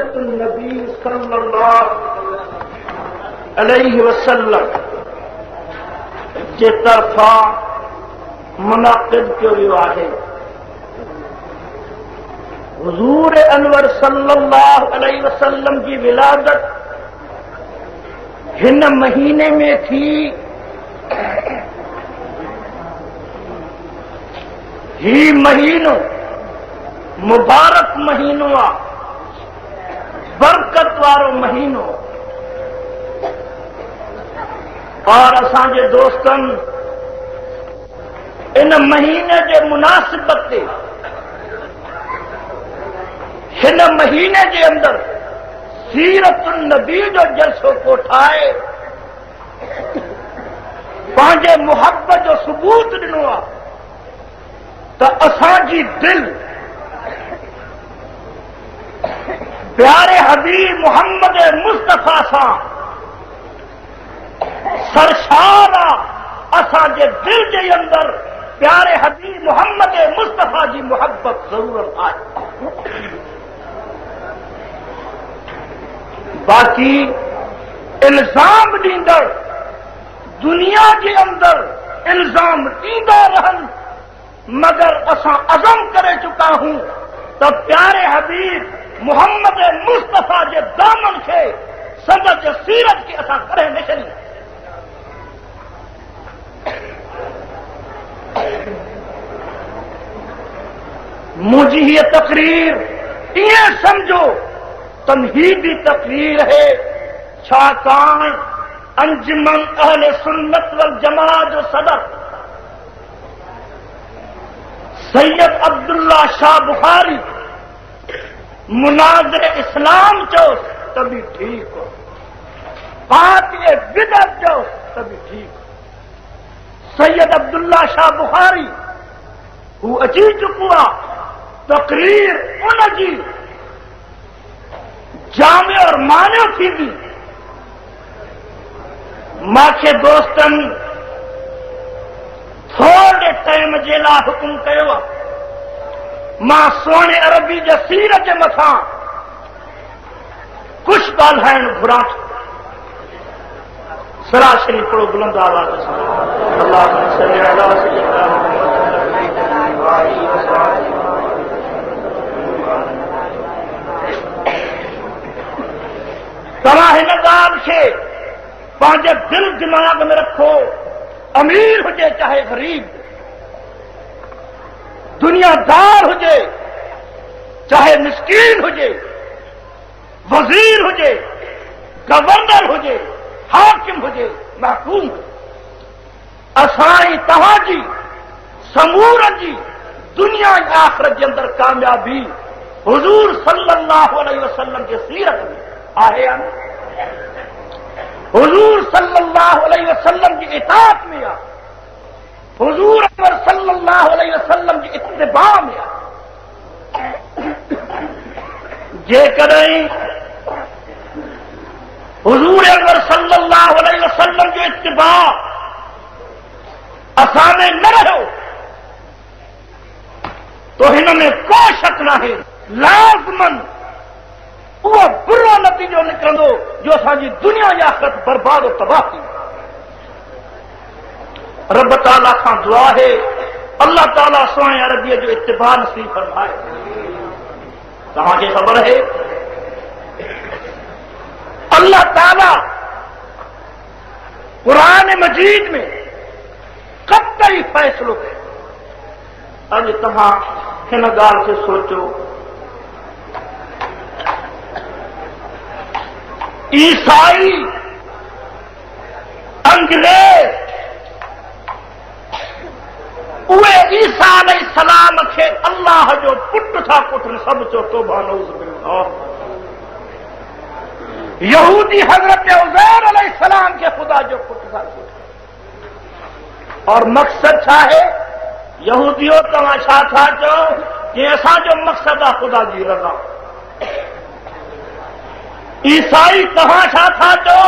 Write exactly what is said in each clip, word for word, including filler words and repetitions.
नबी सल्लल्लाहु अलैहि वसल्लम जे तरफ़ां मुनक़िद कयो वियो आहे। हुज़ूर अनवर सल्लल्लाहु अलैहि वसल्लम जी विलादत हिन महीने में थी। ही महीनो मुबारक महीनो आहे, बरकत वारो महीनो। और असांजे दोस्तनि इन महीने जे मुनासिबत ते हिन महीने जे अंदरि सीरत नबी जो जलसो कोठाए पंहिंजे मुहब्बत जो सबूत ॾिनो आहे त असांजी दिलि प्यारे हबीब मोहम्मद मुस्तफ़ा सां सरशार आहे। असांजे दिलि जे अंदरि प्यारे हबीब मोहम्मद मुस्तफ़ा जी मुहब्बत ज़रूरत आहे। बाक़ी इल्ज़ाम ॾींदड़ दुनिया जे अंदरि इल्ज़ाम ॾींदा रहनि, मगर असां अज़म करे चुका हूं त प्यारे हबीब मोहम्मद मुस्तफ़ा जे दामन खे संदसि सीरत खे असां कॾहिं न छॾींदा। मुंहिंजी हीअ तकरीर ईअं सम्झो तमहीदी तकरीर है, छाकाणि अंजुमन अहले सुन्नत वल जमात जो सदर सैयद अब्दुल्ला शाह बुखारी मुनाज़िर इस्लाम चओ तभी ठीक हो, कातिल बिदअत चओ तभी ठीक हो। सैयद अब्दुल्ला शाह बुखारी हू अची चुको आहे, तकरीर उनजी जामे और मान्यो थींदी। मूंखे दोस्तनि थोरे टाइम जे लाइ हुकुम कयो आहे, मां सोणे अरबी जे सीरत जे मथां कुझु ॻाल्हाइणु घुरां थो। सरा शरीफ़ पढ़ो बुलंद आवाज़ सां। अल्लाहुम्मा सल्ली अला सय्यिदिना मुहम्मद। तव्हां हिन ॻाल्हि खे पंहिंजे दिलि दिमाग़ में रखो, अमीर हुजे चाहे ग़रीब, दुनियादार हुजे चाहे मिस्कीन हुजे, वज़ीर हुजे, गवर्नर हुजे, हाकिम हुजे, महकूम हुजे, असां ऐं तव्हांजी समूरनि जी दुनिया ऐं आख़िरत जे अंदरि कामयाबी हुज़ूर सल्लल्लाहु अलैहि वसल्लम जे सीरत में आहे या न? हुज़ूर सल्लल्लाहु अलैहि वसल्लम जी इताअत में आहे, हुज़ूर अनवर सल्लल्लाहु अलैहि वसल्लम जी इत्तिबा में आहे। जेकॾहिं हुज़ूर अनवर सल्लल्लाहु अलैहि वसल्लम जो इत्तिबा असां में न रहियो तो हिन में को शक नाहे, लाज़मन उहो बुरो नतीजो निकिरंदो जो असांजी दुनिया जी आख़िरत बर्बाद तबाह थी। रब ताला खां दुआ है अल्लाह ताला सोणे अरबीअ जो इत्तिबा नसीब फरमाए। तव्हांखे ख़बर है अल्लाह ताला क़ुरान मजीद में कतई फ़ैसिलो कयो। अॼु तव्हां हिन ॻाल्हि खे सोचो, ईसाई अंग्रेज़ उहे ईसा अलैहिस्सलाम खे अल्लाह जो पुट था कुठनि, सभु चओ तौबा नऊज़ बिल्लाह। यहूदी हज़रत उज़ैर अलैहिस्सलाम खे ख़ुदा जो पुट था कुठनि। और मक़सद छा आहे? यहूदियो तव्हां छा था चओ की असांजो मक़सदु आहे ख़ुदा जी रज़ा। ईसाई तव्हां छा था चओ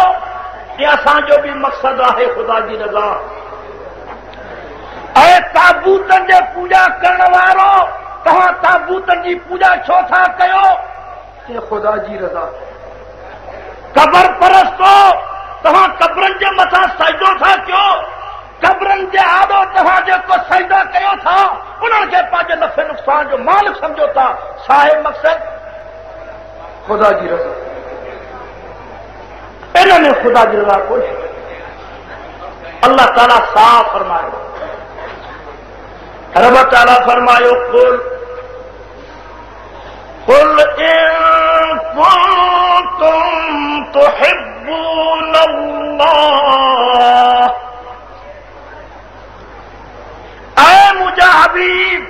की असांजो बि मक़सदु आहे ख़ुदा जी रज़ा। ऐं ताबूतनि जे पूॼा करण वारो तव्हां ताबूतनि जी पूॼा छो था कयो? चए ख़ुदा जी रज़ा। क़बर परस्तो तव्हां क़बरनि जे मथां सजदो था कयो, क़बरनि जे आॾो तव्हां जेको सजदा कयो था उन्हनि खे पंहिंजे नफ़े नुक़सान जो मालिक सम्झो था। छा आहे मक़सदु? ख़ुदा जी रज़ा। इन में ख़ुदा जी रज़ा कोन्हे। अल्लाह ताला साफ़ फरमायो, रब ताला फरमायो कुल कुल इन कुंतुम तुहिब्बून अल्लाह, ऐ मुंहिंजा हबीब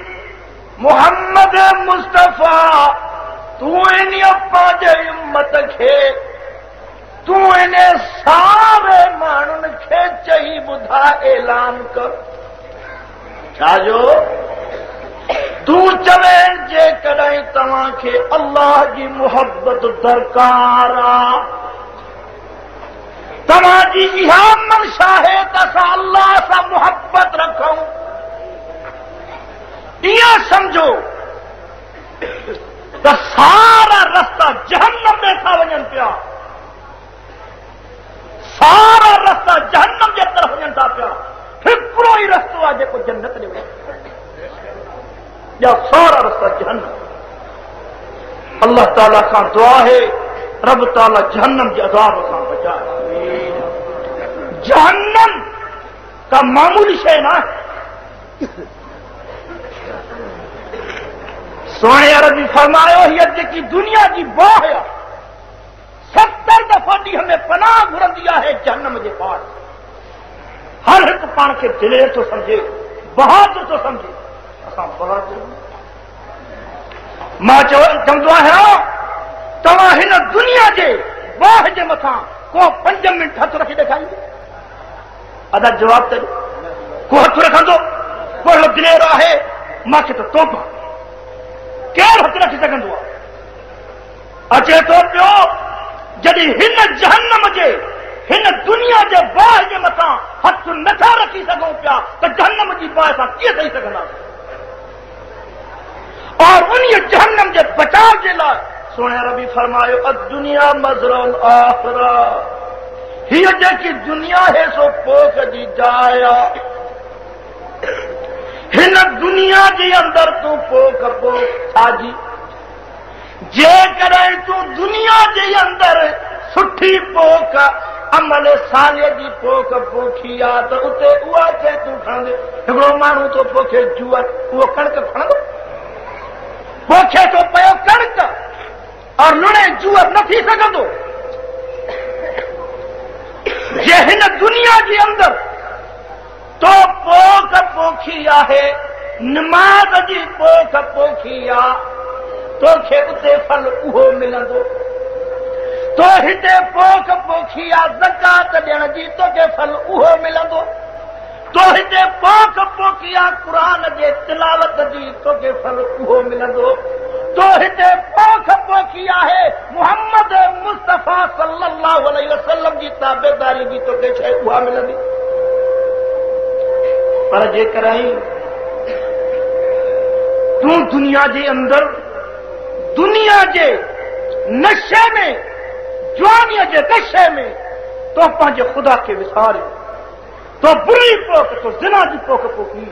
मोहम्मद मुस्तफ़ा, तूं इन पंहिंजे उम्मत खे, तूं इन सारे माण्हुनि खे चई ॿुधा ऐलान कर। छा जो तूं चवे जेकॾहिं तव्हांखे अल्लाह जी मुहब्बत दरकार आहे, तव्हांजी इहा मंशा आहे त असां अल्लाह सां मुहब्बत रखूं, इहा सम्झो त सारा रस्ता जहन्नम में था वञनि पिया, सारा रस्ता जहन्नम जे तरफ़ वञनि था पिया, हिकिड़ो ई रस्तो आहे जेको जन्नत ॾे वञे, या सारा रस्ता जहन्नम। अल्लाह ताला खां दुआ है रब ताला जहन्नम जे अज़ाब खां बचाए। जहन्नम का मामूली शइ न आहे। सोणे अरबी फरमायो हीअ जेकी दुनिया जी बाहि आहे सत्तर दफ़ा ॾींहं में पनाह घुरंदी आहे जहन्नम जे पार। हर हिकु पाण खे दिलेर थो सम्झे, बहादुर थो सम्झे। असां बहादुर मां चवंदो आहियां तव्हां हिन दुनिया जे बाहि जे मथां को पंज मिंट हथु रखी ॾेखारींदो? अदा जवाब त ॾियो। को हथु रखंदो? को अहिड़ो दिलेर आहे? मूंखे त तोबा, केरु हथु रखी सघंदो आहे? अचे थो पियो जॾहिं हिन जहन्नम जे हिन दुनिया जे बाहि जे मथां हथु नथा रखी सघूं पिया त जहन्नम जी बाहि सां कीअं सही सघंदासीं? और उन जहन्नम जे बचाव जे लाइ सोणे रबी फरमायो अद-दुनिया मज़रउल आखिरा, हीअ जेकी दुनिया है सो पोख जी जाइ आहे। हिन दुनिया जे अंदरि तूं पोख पोख छाजी, जेकॾहिं तूं दुनिया जे अंदरि सुठी पोख अमल साले जी पोख पोखी आहे त उते उहा शइ तूं खणंदे। हिकिड़ो माण्हू थो पोखे जुअर, उहो कणिक खणंदो? पोखे थो पियो कणिक और लुणे जुअर न थी सघंदो। जे हिन दुनिया जे अंदरि तो पोख पोखी आहे, नमाज़ जी पोख पोखी आहे, तोखे उते फल उहो मिलंदो। तो हिते पोख पोखी आहे ज़कात ॾियण जी, तोखे फल उहो मिलंदो। तो हिते पोख पोखी आहे क़ुरान जे तिलावत जी, तोखे फल उहो मिलंदो। तो हिते पोख पोखी आहे मोहम्मद मुस्तफ़ा सल्लल्लाहु अलैहि वसल्लम जी ताबेदारी जी, तोखे शइ उहा मिलंदी। पर जेकॾहिं तूं दुनिया जे अंदरि दुनिया जे नशे में, जवानीअ जे नशे में तो पंहिंजे ख़ुदा खे विसारियो, तो बुरी पोख, तो ज़िना जी पोख पोखी,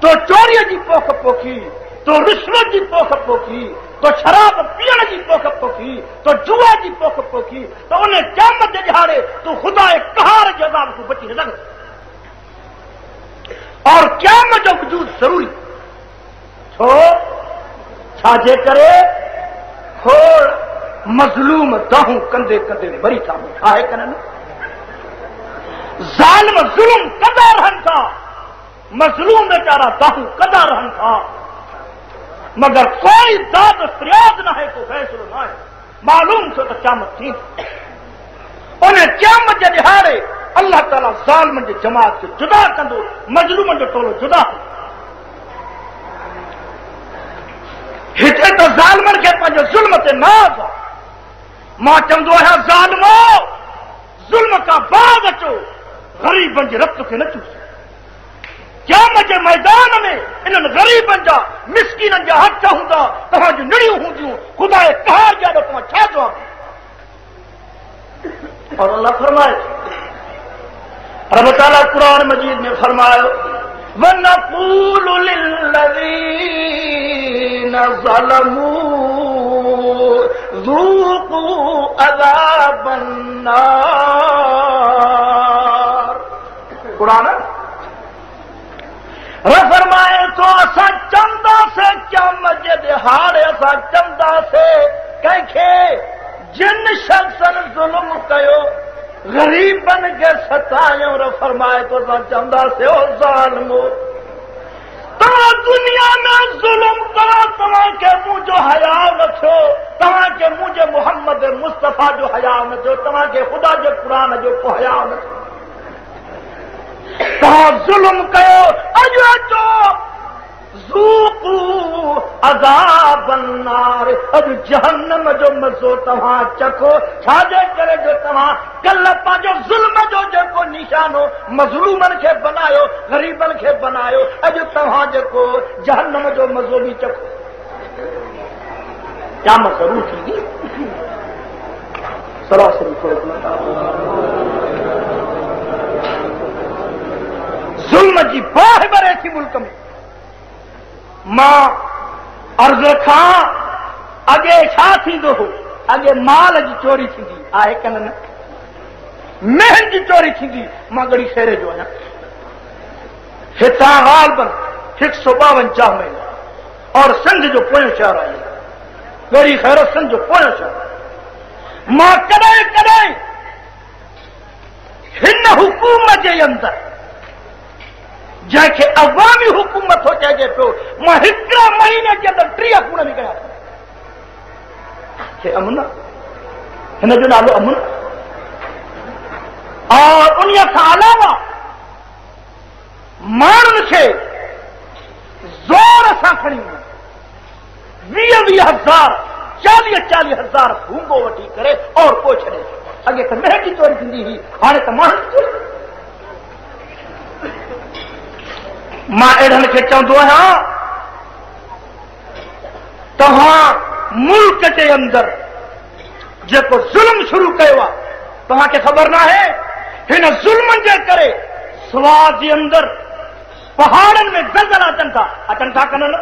तो चोरीअ जी पोख पोखी, तो रिश्वत जी पोख पोखी, तो शराब पीअण जी पोख पोखी, तो जुआ जी पोख पोखी, त उन क़यामत जे ॾिहाड़े तूं ख़ुदा कहार जे अज़ाब खां बची न सघंदो। और क़यामत जो वजूद ज़रूरी छो? छाजे करे खोड़ मज़लूम दाहूं कंदे कंदे मरी था आहे कन न? ज़ालिम ज़ुल्म कंदा रहनि था, मज़लूम वीचारा दाहूं कंदा रहनि था, मगर कोई दाद फरियाद न आहे, को फ़ैसिलो न आहे। मालूम थियो त क़यामत थींदी। उन क़यामत जे ॾिहाड़े अल्लाह ताला ज़ालिमनि जी जमात खे जुदा कंदो, मज़लूमनि जो टोलो जुदा। हिते त ज़ालिमनि खे पंहिंजे ज़ुल्म ते नाज़ आहे। मां चवंदो आहियां ज़ालिमो, ज़ुल्म खां बाद अचो, ग़रीबनि जे रत खे न चूसो। क़यामत जे मैदान में इन्हनि ग़रीबनि जा मिसकीननि जा हथ हूंदा, तव्हांजूं निड़ियूं हूंदियूं, ख़ुदा कहार जे आॾो तव्हां छा जवाबु? और अल्लाह फरमाए, रब ताला कुरान मजीद में फरमायो, वनक़ूलु लिल्लज़ीना ज़लमू ज़ूक़ू अज़ाबन्नार। कुरान रब फरमाए तो असां चवंदासीं क़यामत जे ॾिहाड़े असां चवंदासीं कंहिंखे, जिन शख़्सनि ज़ुल्म कयो, ग़रीबनि खे सतायो। रब फरमाए तो असां चवंदासीं ओ ज़ालिमो, तव्हां दुनिया में ज़ुल्म कयो, तव्हांखे मुंहिंजो हयाउ न थियो, तव्हांखे मुंहिंजे मोहम्मद मुस्तफ़ा जो हयाउ न थियो, तव्हांखे ख़ुदा जे क़ुरान जो को हयाउ न थियो, तव्हां ज़ुल्म कयो, अॼु अचो ज़ूक़ू अज़ाबन्नार, अॼु जहन्नम जो मज़ो तव्हां चखो। छाजे करे जो तव्हां कल्ह पंहिंजो ज़ुल्म जो जेको निशानो मज़लूमनि खे बनायो, ग़रीबनि खे बनायो, अॼु तव्हां जेको जहन्नम जो मज़ो बि चखो। क़यामत ज़रूर थींदी। सरासरी ज़ुल्म जी बाहि ॿरे थी मुल्क में। मां अर्ज़ खां अॻे छा थींदो हो? अॻे माल जी चोरी थींदी आहे कन न, मेहन जी चोरी थींदी। मां गड़ी शेरे जो आहियां, हितां ग़ालिबन हिकु सौ ॿावंजाह महीना और सिंध जो पोयों शहर आहे, गड़ी ख़ैर सिंध जो पोयों शहर। मां कॾहिं कॾहिं हिन हुकूमत जे अंदरि जंहिंखे अवामी हुकूमत थो चइजे पियो, मां हिकिड़े महीने जे अंदरि टीह खून बि कया। अमन, हिन जो नालो अमन। और उन खां अलावा माण्हुनि खे ज़ोर सां खणी वीह वीह हज़ार चालीह चालीह हज़ार भूंगो वठी करे और पोइ छॾे। अॻे त मेह जी चोरी थींदी हुई, हाणे त माण्हुनि जी चोरी। मां अहिड़नि खे चवंदो आहियां, तव्हां मुल्क जे अंदरि जेको ज़ुल्म शुरू कयो आहे, तव्हांखे ख़बर न आहे, हिन ज़ुल्मनि जे करे स्वाद जे अंदरि पहाड़नि में ज़लज़ला अचनि था, अचनि था कन न?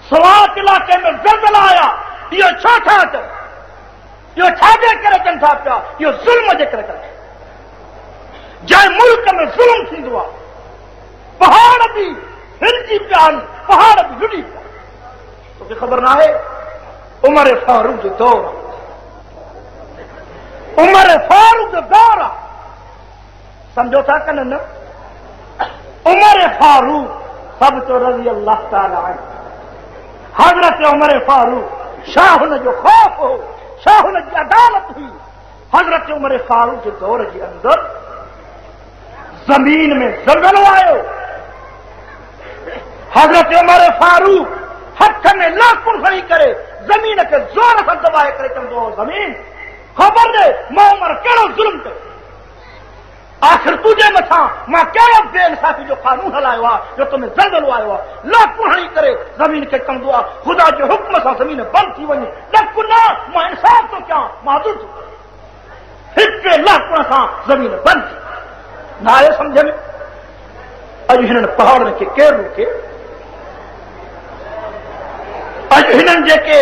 स्वात इलाइक़े में ज़लज़ला आया, इहो छो था अचनि? इहो छाजे करे अचनि था पिया? इहो ज़ुल्म जे करे कनि। जंहिं मुल्क में ज़ुल्म थींदो आहे, पहाड़ बि हिलजी पिया आहिनि, पहाड़ बि लुॾी पिया। तोखे ख़बर न आहे, उमर फारूक जो दौर आहे, उमर फारूक जो दौर आहे, सम्झो था कन न? उमर फारूक सभु तो रज़ी अल्लाह ताला अन्हु, हज़रत उमर फारूक, शाह हुन जो ख़ौफ़ हो, शाह हुन जी अदालत हुई। हज़रत उमर फारूक जे दौर जे अंदरि ज़मीन में ज़लज़लो आयो। हज़रत उमर फारूक हथ में लाकुण खणी करे ज़मीन खे ज़ोर सां दॿाए करे चवंदो हो, ज़मीन ख़बर ॾे मां उमर कहिड़ो ज़ुल्म कयो, आख़िर तुंहिंजे मथां मां कहिड़ो बेइंसाफ़ी जो कानून हलायो आहे जो तो में ज़लज़लो आयो आहे। लाकुण हणी करे ज़मीन खे चवंदो आहे, ख़ुदा जे हुक्म सां ज़मीन बंदि थी वञे, ॾक न, मां इंसाफ़ थो कयां, मां अदुल थो कयां। हिकु लाकुण सां ज़मीन बंदि थी। न आयो सम्झ में? अॼु हिननि पहाड़नि खे केरु रोके? अॼु हिननि जेके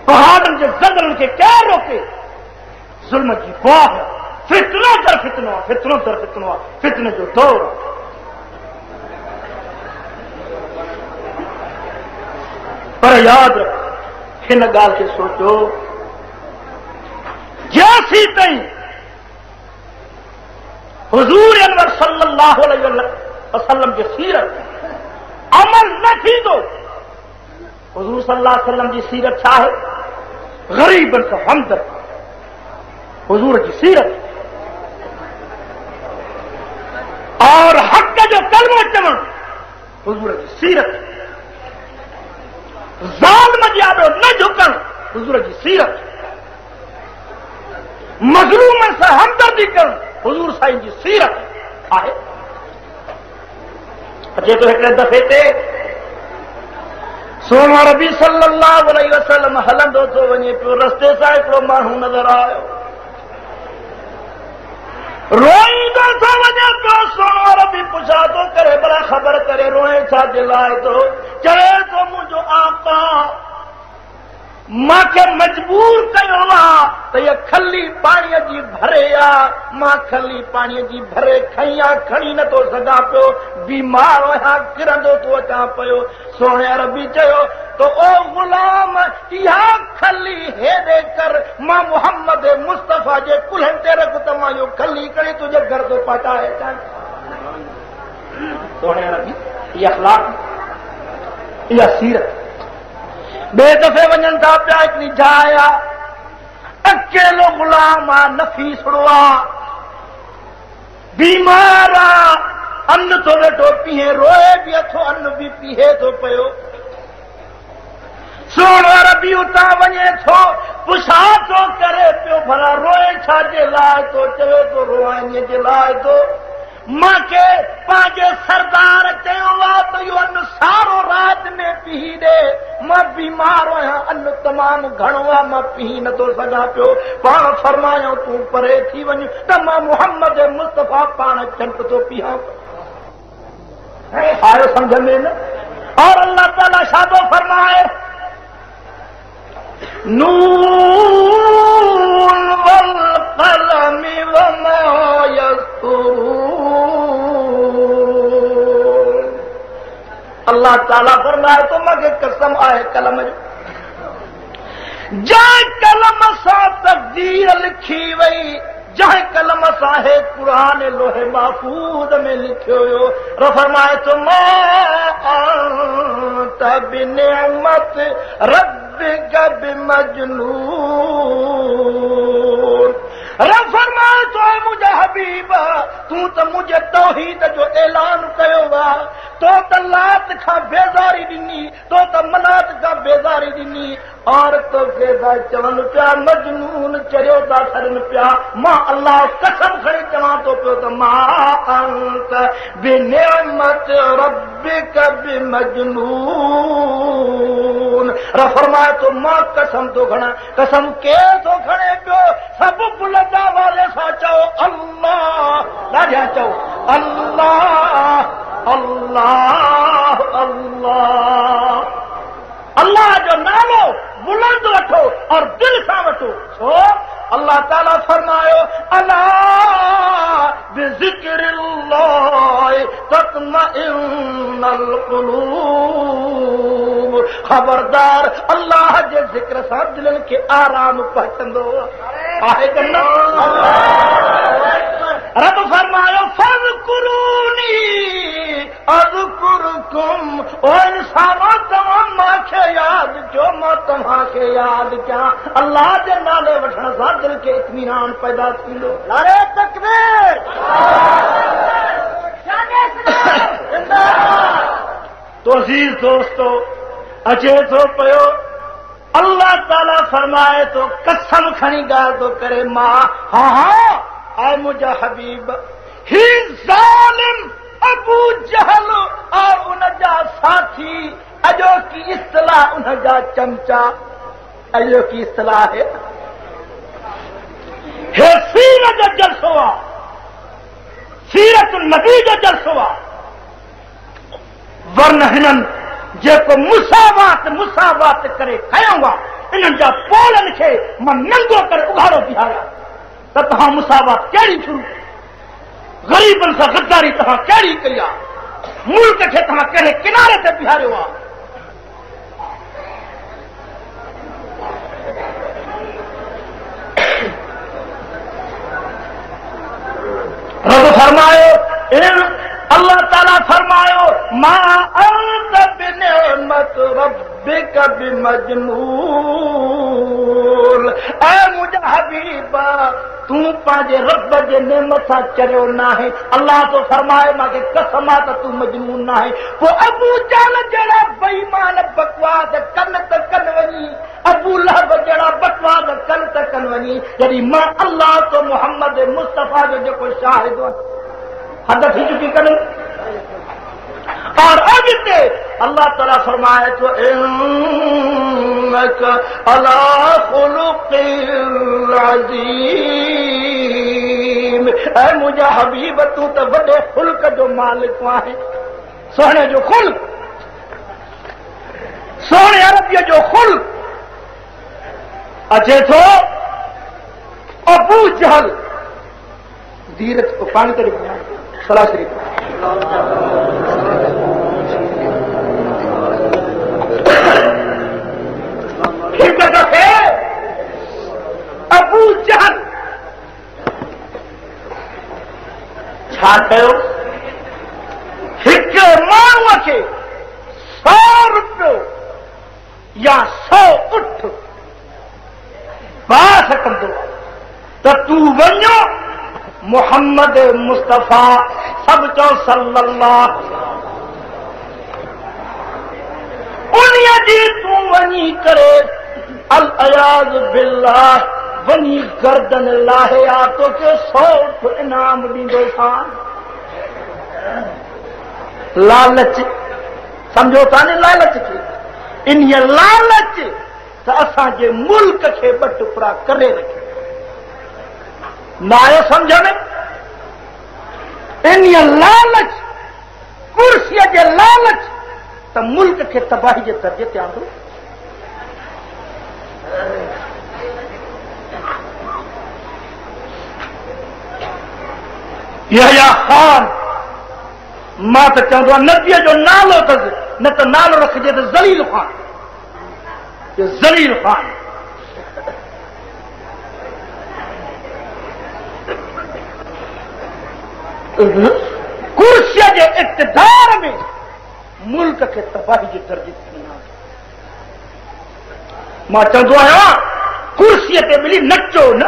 पहाड़नि जे ज़लज़लनि खे केरु रोके? ज़ुल्म जी बाहि, फितनो दर फितनो आहे, फितनो दर फितनो आहे, फितने जो दौर आहे। पर यादि रखो, हिन ॻाल्हि खे सोचो, जेसीं ताईं हुज़ूर अनवर सल्लल्लाहु अलैहि वसल्लम जी सीरत अमल न थींदो। हुज़ूर सल्लल्लाहु अलैहि वसल्लम जी सीरत छा आहे? ग़रीबनि सां हमदर्द हुज़ूर जी सीरत, और हक़ जो कलमो चवणु हुज़ूर जी सीरत, ज़ालिम जे आॾो न झुकणु हुज़ूर जी सीरत, मज़लूमनि सां हमदर्दी करणु हुज़ूर साईं जी सीरत आहे। अचे थो हिकिड़े दफ़े ते सोना रबी सल्लल्लाहु अलैहि वसल्लम हलंदो थो वञे पियो, रस्ते सां हिकिड़ो माण्हू नज़र आयो, रोईंदो थो वञे पियो। सोना रबी पुछा थो करे, भला ख़बर करे रोए छा जे लाइ थो? चवे थो मुंहिंजो आका मूंखे मजबूर कयो आहे त इहा खली पाणीअ जी भरे आहे, मां खली पाणीअ जी भरे खई आहे, खणी नथो सघां पियो, बीमार आहियां, किरंदो थो अचां पियो। सोणे रबी चयो त ओ ग़ुलाम, इहा खली हेॾे कर, मां मोहम्मद मुस्तफ़ा जे कुल्हनि ते रख त मां इहो खली खणी तुंहिंजे घर थो पहुचाए अचां। सोणे रबी इहा अख़लाक़, इहा सीरत। ॿिए दफ़े वञनि था पिया, हिकिड़ी जाइ आहे, अकेलो ग़ुलाम आहे, नफ़ीसड़ो आहे, बीमार आहे, अन्न थो वेठो पीहे, रोए बि अथो, अन्न बि पीहे थो पियो। सोणो रबी उतां वञे थो, पुछा थो करे पियो, भला रोए छा जे लाइ थो? चवे थो रोआईअ जे लाइ थो। मूंखे पंहिंजे सरदार चयो आहे त इहो अन्न सारो राति में पीही ॾे, मां बीमार आहियां, अन्न तमामु घणो आहे, मां पीही नथो सघां पियो। पाण फरमायो तूं परे थी वञ त मां मोहम्मद मुस्तफ़ा पाण झंट थो पीहां। आयो सम्झ में न? और अल्लाह ताला छा थो फरमाए, नून वल क़लम वमा यस्तूरून। अल्लाह ताला फरमाए तो मूंखे कसम आहे कलम जो, जंहिं कलम सां तक़दीर लिखी वई, जंहिं कलम सां हे क़ुरान लोहे महफ़ूज़ में लिखियो वियो। फरमाए थो मा अंत बिनिअमत रब्बिक बिमजनून। रब फरमाए थो मुंहिंजा हबीब, तूं त मुंहिंजे तौहीद जो ऐलान कयो आहे, तो त लात खां बेज़ारी ॾिनी, तो त मनात खां बेज़ारी ॾिनी, और तोखे था चवनि पिया मजनून, चरियो था छॾनि पिया। मां अल्लाह कसम खणी चवां थो पियो त मां अंत बिनिअमत रब्बिक बिमजनून। रब फरमाए थो मां कसम थो खणां, कसम केरु थो खणे पियो? सभु बुलंद वाले सां चओ अल्लाह, ॾाढिया चओ अल्लाह अल्लाह अल्लाह। अल्लाह जो नालो बुलंद वठो और दिल सां वठो। छो अल्लाह ताला फरमायो अला बिज़िक्रिल्लाह तत्मइन्नुल क़ुलूब। ख़बरदार अल्लाह जे ज़िक्र सां दिलनि खे आराम पहुचंदो आहे की न? रब फरमायो फज़कुरूनी अज़कुरकुम। ओ इंसानो, तव्हां मूंखे यादि कयो, मां तव्हांखे यादि कयां। अल्लाह जे नाले वठण सां दिलि खे इत्मीनान पैदा थींदो। नारे तकबीर। तो अज़ीज़ दोस्तो, अचे थो पियो अल्लाह ताला फरमाए तो कसम खणी ॻाल्हि थो करे मां, हा हा ऐ मुंहिंजा हबीब, ही ज़ालिम अबू जहल और उन जा साथी, अॼोकी इस्तलाह उन जा चमचा, अॼोकी इस्तलाह है हे सीरत जो जलसो आहे, सीरत नबी जो जलसो आहे। वरन हिननि जेको मुसावात मुसावात करे कयो आहे, इन्हनि जा पोलनि खे मां नंगो करे उघाड़ो बीहारियां त तव्हां मुसावात कहिड़ी शुरू कई, ग़रीबनि सां गद्दारी तव्हां कहिड़ी कई आहे, मुल्क खे तव्हां कहिड़े किनारे ते बीहारियो आहे। रब फरमायो, अल्लाह ताला फरमायो मां अंत बिनिअमत रब्बिक बिमजनून। ऐ मुंहिंजा हबीब, तूं पंहिंजे रब जे नेमत सां चरियो नाहे। अल्लाह थो फरमाए मूंखे कसम आहे त तूं मजनून नाहे। पोइ अबू जहल जहिड़ा बेईमान बकवास कन त कन वञी, अबू लहब जहिड़ा बकवास कन त कन वञी, जॾहिं मां अल्लाह तो मोहम्मद मुस्तफ़ा जो जेको शाहिद हद थी चुकी कन। और अॻिते अल्लाह ताला फरमाए थो इन्नक अला खुलुक़िन अज़ीम। ऐ मुंहिंजा हबीब, तूं त वॾे खुल्क जो मालिक आहे। सुहिणे जो खुल्क, सुहिणे अरबीअ जो खुल्क। अचे थो अबू जहल, धीरज को पाणी करे सलाह शरीफ हिकु दफ़े अबू जहल छा कयो, हिकु माण्हूअ खे सौ रुपयो या सौ उठ बास कंदो त तूं वञो मोहम्मद मुस्तफ़ा सभु चओ सल्लल्लाहु उन्हीअ जी तूं वञी करे अल अयाज़ बिल्लाह वञी गर्दन लाहे आ, तोखे सौ उठ इनाम ॾींदोसां। लालच सम्झो था न, लालच खे, इन्हीअ लालच त असांजे मुल्क खे ॿ टुकड़ा करे रखे। न आयो सम्झ में? इन्हीअ लालच, कुर्सीअ जे लालच त मुल्क खे तबाही जे दर्जे ते आंदो। यहया खान, मां त चवंदो आहियां नबीअ जो नालो अथसि, न त नालो रखिजे त ज़लील खान, ज़लील खान। कुर्सीअ जे इक़्तिदार में मुल्क खे तबाही जे दर्जे ते खणी आंदो। मां चवंदो आहियां कुर्सीअ ते मिली नचो न,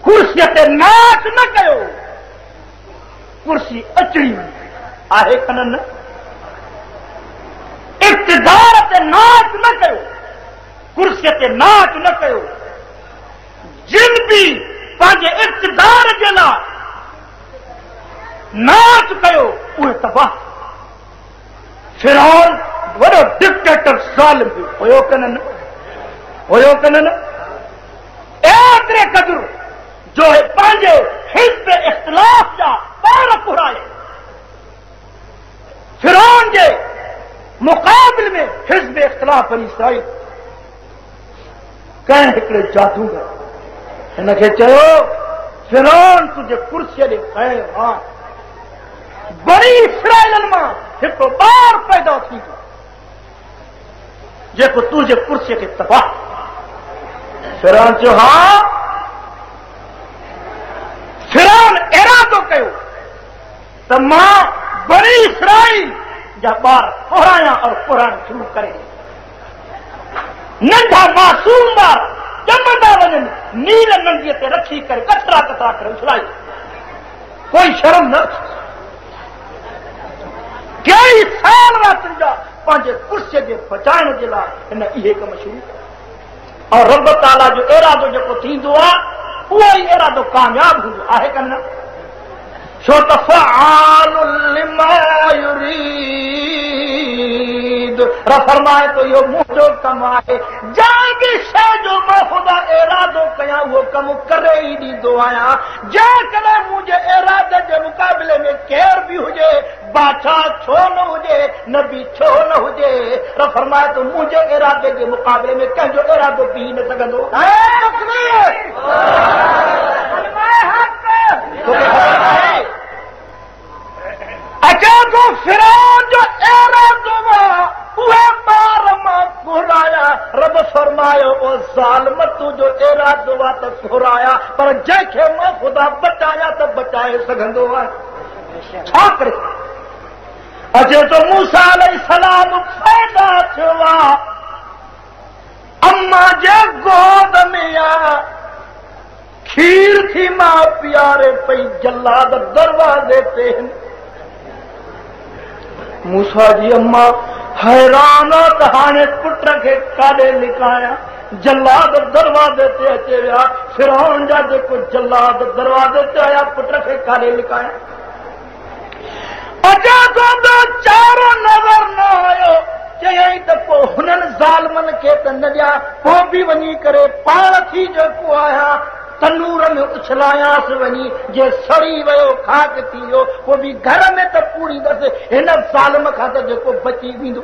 कुर्सीअ ते नाच न कयो, कुर्सी अचणी आहे कन न। इक़्तिदार ते नाच न कयो, कुर्सीअ ते नाच न कयो। जिन बि पंहिंजे इक़्तिदार जे लाइ नाच कयो उहे तबाह। फिरौन वॾो डिक्टेटर ज़ालिम हुयो कन न, हुयो कन न। एतिरे क़दुरु जो पंहिंजे हिज़्ब इख़्तिलाफ़ जा ॿार घुराए, फिरौन जे मुक़ाबिल में हिज़्ब इख़्तिलाफ़ बनी इसराइल कंहिं हिकिड़े जादूगर हिनखे चयो फिरौन तुंहिंजे कुर्सीअ ॾे खैर आहे, बनी इसराइलनि मां हिकिड़ो ॿार पैदा थींदो जेको तुंहिंजे कुर्सीअ खे तबाह। फिरौन चयो हा। फिरौन इरादो कयो त मां बनी इसराइल जा ॿार कुरायां और कुराइण शुरू करे। नंढा मासूम ॿार ॼमंदा वञनि, नील नंदीअ ते रखी करे कचरा कचरा करे उछलाई, कोई शर्म न। कई साल रातिनि जा पंहिंजे कुर्सीअ जे बचाइण जे लाइ हिन इहे कम शुरू कया। और रब ताला जो इरादो जेको थींदो आहे उहो ई इरादो कामयाबु हूंदो आहे कन न? छो त फ़आलुल लिमा युरीद, फरमाए तो इहो मुंहिंजो कमु आहे, जंहिं बि शइ जो मां ख़ुदा इरादो कयां उहो कमु करे ई ॾींदो आहियां। जेकॾहिं मुंहिंजे इरादे जे मुक़ाबले में केरु बि हुजे, बादशाह छो न हुजे, नबी छो न हुजे, फरमाए तो मुंहिंजे इरादे जे मुक़ाबले में कंहिंजो इरादो बीह न सघंदो। अचे थो फिरौन जो इरादो उहे ॿार मां घुराया। रब फरमायो ओ ज़ालिम, तुंहिंजो इरादो आहे त घुराया, पर जंहिंखे मां ख़ुदा बचाया त बचाए सघंदो आहे। छा करे? अचे थो मूसा अलैहिस्सलाम पैदा थियो आहे, अम्मा जे गोद में आहे, खीर थी मां पीआरे पई, जल्लाद दरवाज़े ते आहिनि। मूसा जी अम्मा हैरान त हाणे पुट खे काॾे लिकायां, जल्लाद दरवाज़े ते अचे विया। फिरौन जा जेको जल्लाद दरवाज़े ते आया, पुट खे काॾे लिकायां। अचे थो ॿियो चारो नज़र न आयो। चयईं त पोइ हुननि ज़ालिमनि खे त न ॾियां, पोइ बि वञी करे पाण थी जेको आहियां तनूर में उछलायांसि वञी, जे सड़ी वियो खाक थी वियो, पोइ बि घर में त पूरींदसि, हिन ज़ालिम खां त जेको बची वेंदो।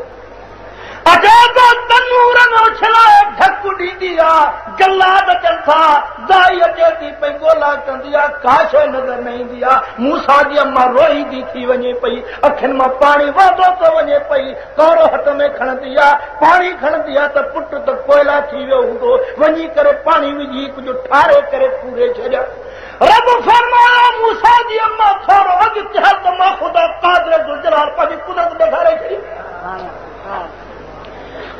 अचे थो तनूर में उछलाए ढक ॾींदी आहे, जलाद अचनि था, दाई अचे थी पई ॻोल्हा कंदी आहे, का शइ नज़र न ईंदी आहे। मूसा जी अम्मा रोईंदी थी वञे पई, अखियुनि मां पाणी वहंदो थो वञे पई, कौरो हथ में खणंदी आहे, पाणी खणंदी आहे त पुट त कोयला थी वियो हूंदो, वञी करे पाणी विझी कुझु ठारे करे पूरे छॾिया। रब फरमायो मूसा जी अम्मा थोरो अॻिते हल त मां ख़ुदा क़ादिर ज़ुल-जलाल पंहिंजी कुदरत ॾेखारे छॾी।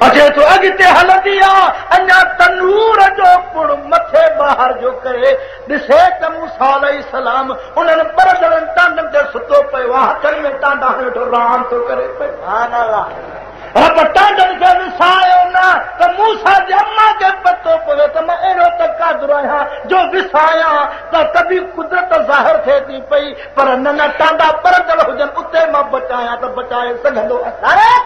अचे थो अॻिते हलंदी आहे, अञा तनूर जो पुड़ मथे ॿाहिरि जो करे ॾिसे त मूसा अलैहिस्सलाम उन्हनि ॿरंदड़नि टांडनि ते सुतो पियो आहे, हथनि में टांडा हणी वेठो रांदि थो करे पियो। रब टांडनि खे विसायो न त मूसा जी अम्मा खे पतो पवे त मां अहिड़ो त कादिर आहियां जो विसायां त तॾहिं कुदरत ज़ाहिर थिए थी पई, पर न न टांडा ॿरंदड़ हुजनि उते मां बचायां त बचाए सघंदो आहियां।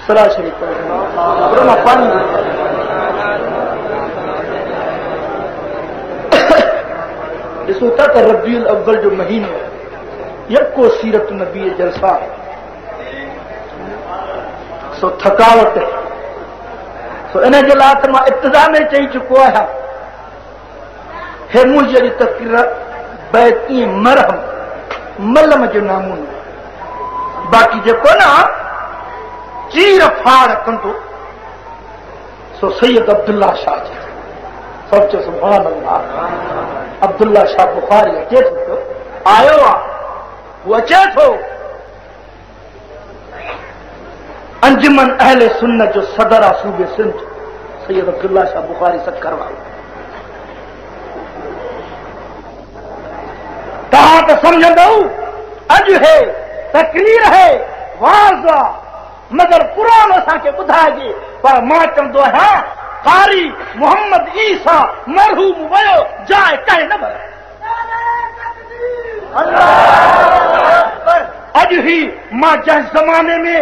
सलाह शरीफ पाणी ॾिसो था त रबीउल अव्वल जो महीनो यको सीरत नबी जलसा, सो थकावट, सो इन जे लाइ त मां इब्तिदा में चई चुको आहियां, हे मुंहिंजी अॼु तकरीर बैत ईअं मरहम मलम जो नमूनो, बाक़ी जेको न चीर फाड़ कंदो सो सैयद अब्दुल्ला शाह जे। सभु चयो सुभान अल्लाह। अब्दुल्ला शाह बुखारी अचे थो पियो, आयो आहे, हू अचे थो। अंजुमन अहले सुन्नत जो सदर आहे सूबे सिंध सैयद अब्दुल्ला शाह बुखारी सक्कर वारो। तव्हां त सम्झंदव अॼु हे तकरीर है वाज़ आहे, मगर क़ुरान असांखे ॿुधाइजे। पर मां चवंदो आहियां कारी मोहम्मद ईसा मरहूम वियो जाइ कंहिं न भरे। अॼु ही मां जंहिं ज़माने में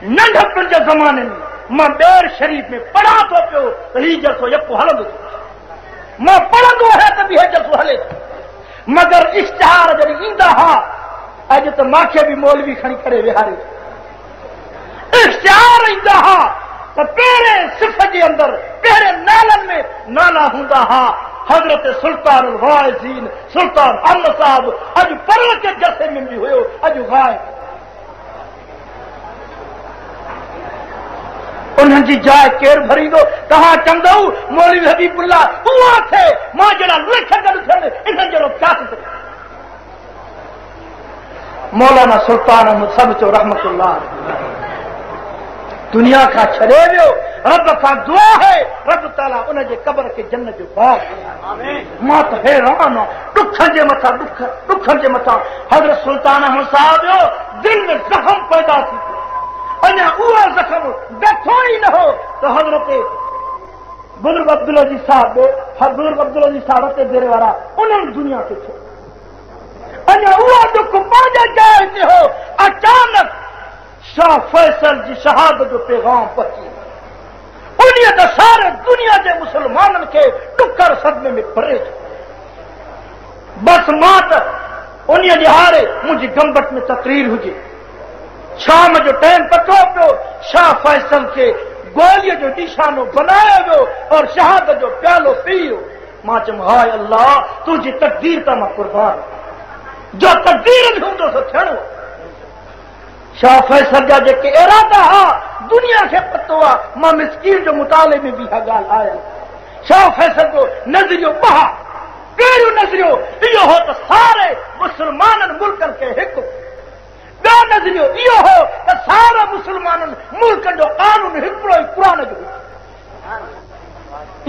नंढपण जे ज़माने में मां ॿेर शरीफ में पढ़ां थो पियो त हीउ जलसो यको हलंदो थो, मां पढ़ंदो आहियां त बि हे जलसो हले थो, मगर इश्तिहार जॾहिं ईंदा हुआ, अॼु त मूंखे बि मौलवी खणी करे विहारे। इश्तिहार ईंदा हुआ त पहिरें सिफ़ जे अंदरि पहिरें नालनि में नाला हूंदा हुआ हज़रत सुल्तान वाइज़ीन सुल्तान अहमद साहब, अॼु पढ़ण के जलसे में बि हुयो, अॼु ग़ाइब। उन्हनि जी जाइ केरु भरींदो? तव्हां चवंदव मौलवी हबीबुल्ला उहा थिए, मां जहिड़ा लख गॾु थियनि इन्हनि जहिड़ो छा थी सघे। मौलाना सुल्तान अहमद सभु चओ रहमतुल्लाह दुनिया खां छॾे वियो, रब खां दुआ है रब ताला उन जे क़बर खे जन्नत जो बाग़। मां त हैरान आहियां, ॾुखनि जे मथां ॾुख, ॾुखनि जे मथां। हज़रत सुल्तान अहमद साहब जो दिलि में ज़ख़म पैदा थी पियो, अञा उहो ज़ख़म ॾठो ई न हो त हज़रत बुज़ुर्ग अब्दुल अज़ीज़ साहब, बुज़ुर्ग अब्दुल अज़ीज़ साहब रते देरे वारा उन्हनि दुनिया खे छॾियो। अञा उहो ॾुख पंहिंजे जाइ ते हो, अचानक शाह फैसल जी शहादत जो पैगाम पहुची उन्हीअ त सारे दुनिया जे मुसलमाननि खे ॾुकर सदमे में भरे छॾियो। बसि मां त उन्हीअ ॾिहाड़े मुंहिंजी गंबट में तकरीर हुजे, शाम जो टाइम पतो पियो, शाह फैसल खे गोलीअ जो निशानो बनायो वियो और शहादत जो प्यालो पीयो। मां चयुमि हाय अल्लाह, तुंहिंजी तकदीर तां मां कुर्बान, जो तकदीर में हूंदो सो थियणो। शाह फैसल जा जेके इरादा हुआ दुनिया खे पतो आहे, मां मिसकीन जो मुताले में बि इहा ॻाल्हि आयल। शाह फैसल जो नज़रियो ॿ, पहिरियों नज़रियो इहो हो त सारे मुसलमाननि मुल्कनि खे हिकु, ॿियो नज़रियो इहो हो त सारे मुसलमाननि मुल्कनि जो कानून हिकिड़ो ई क़ुरान जो।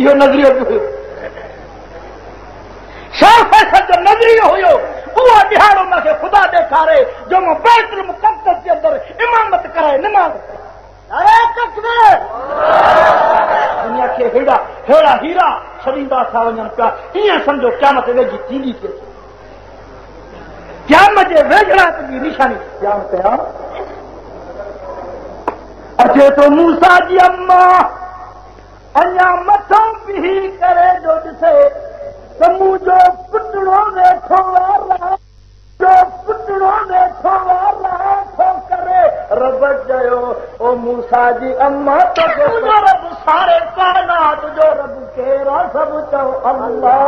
इहो नज़रियो बि हुयो, शाह फैसल जो नज़रियो हुयो। उहो ॾिहाड़ो मूंखे ख़ुदा ॾेखारे जो मां बैतुल मुक़द्दस जे अंदरि इमामत कराए नमाज़। दुनिया खे हेड़ा हेड़ा हीरा छॾींदा था वञनि पिया। ईअं सम्झो क़यामत वेझी थींदी थिए, क़यामत जे वेझड़ाइप जी निशानी क़याम कयां। अचे थो मूसा जी अम्मा अञा मथां बीही करे जो ॾिसे त मुंहिंजो पुटड़ो वेठो आहे, जो पुटड़ो वेठो आहे थो करे। रब चयो ओ मूसा जी अम्मा तुंहिंजो रब सारे काइनात जो रब केरु आहे? सभु चओ अल्लाह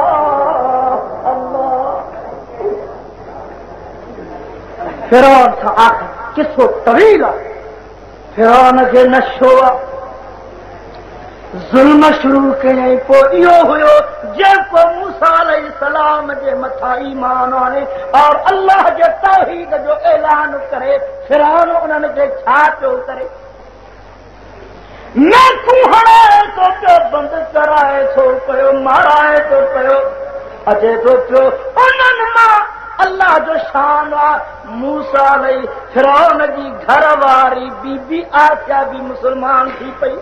अल्लाह। फिरौन सां आख़िर किसो तवील आहे। फिरौन खे नशो आहे, ज़ुल्म शुरू कयईं। पोइ इहो हुयो जेको मूसा अलैहिस्सलाम जे मथां ईमान आणे और अल्लाह जे तौहीद जो ऐलान करे, फिरौन उन्हनि खे छा पियो करे? मेखूं हणे थो पियो, बंदि कराए थो पियो, माराए थो पियो, अचे थो पियो। उन्हनि मां अल्लाह जो शान आहे, मूसा अलैहि फिरौन जी घर वारी बीबी आसिया बि मुसलमान थी पई।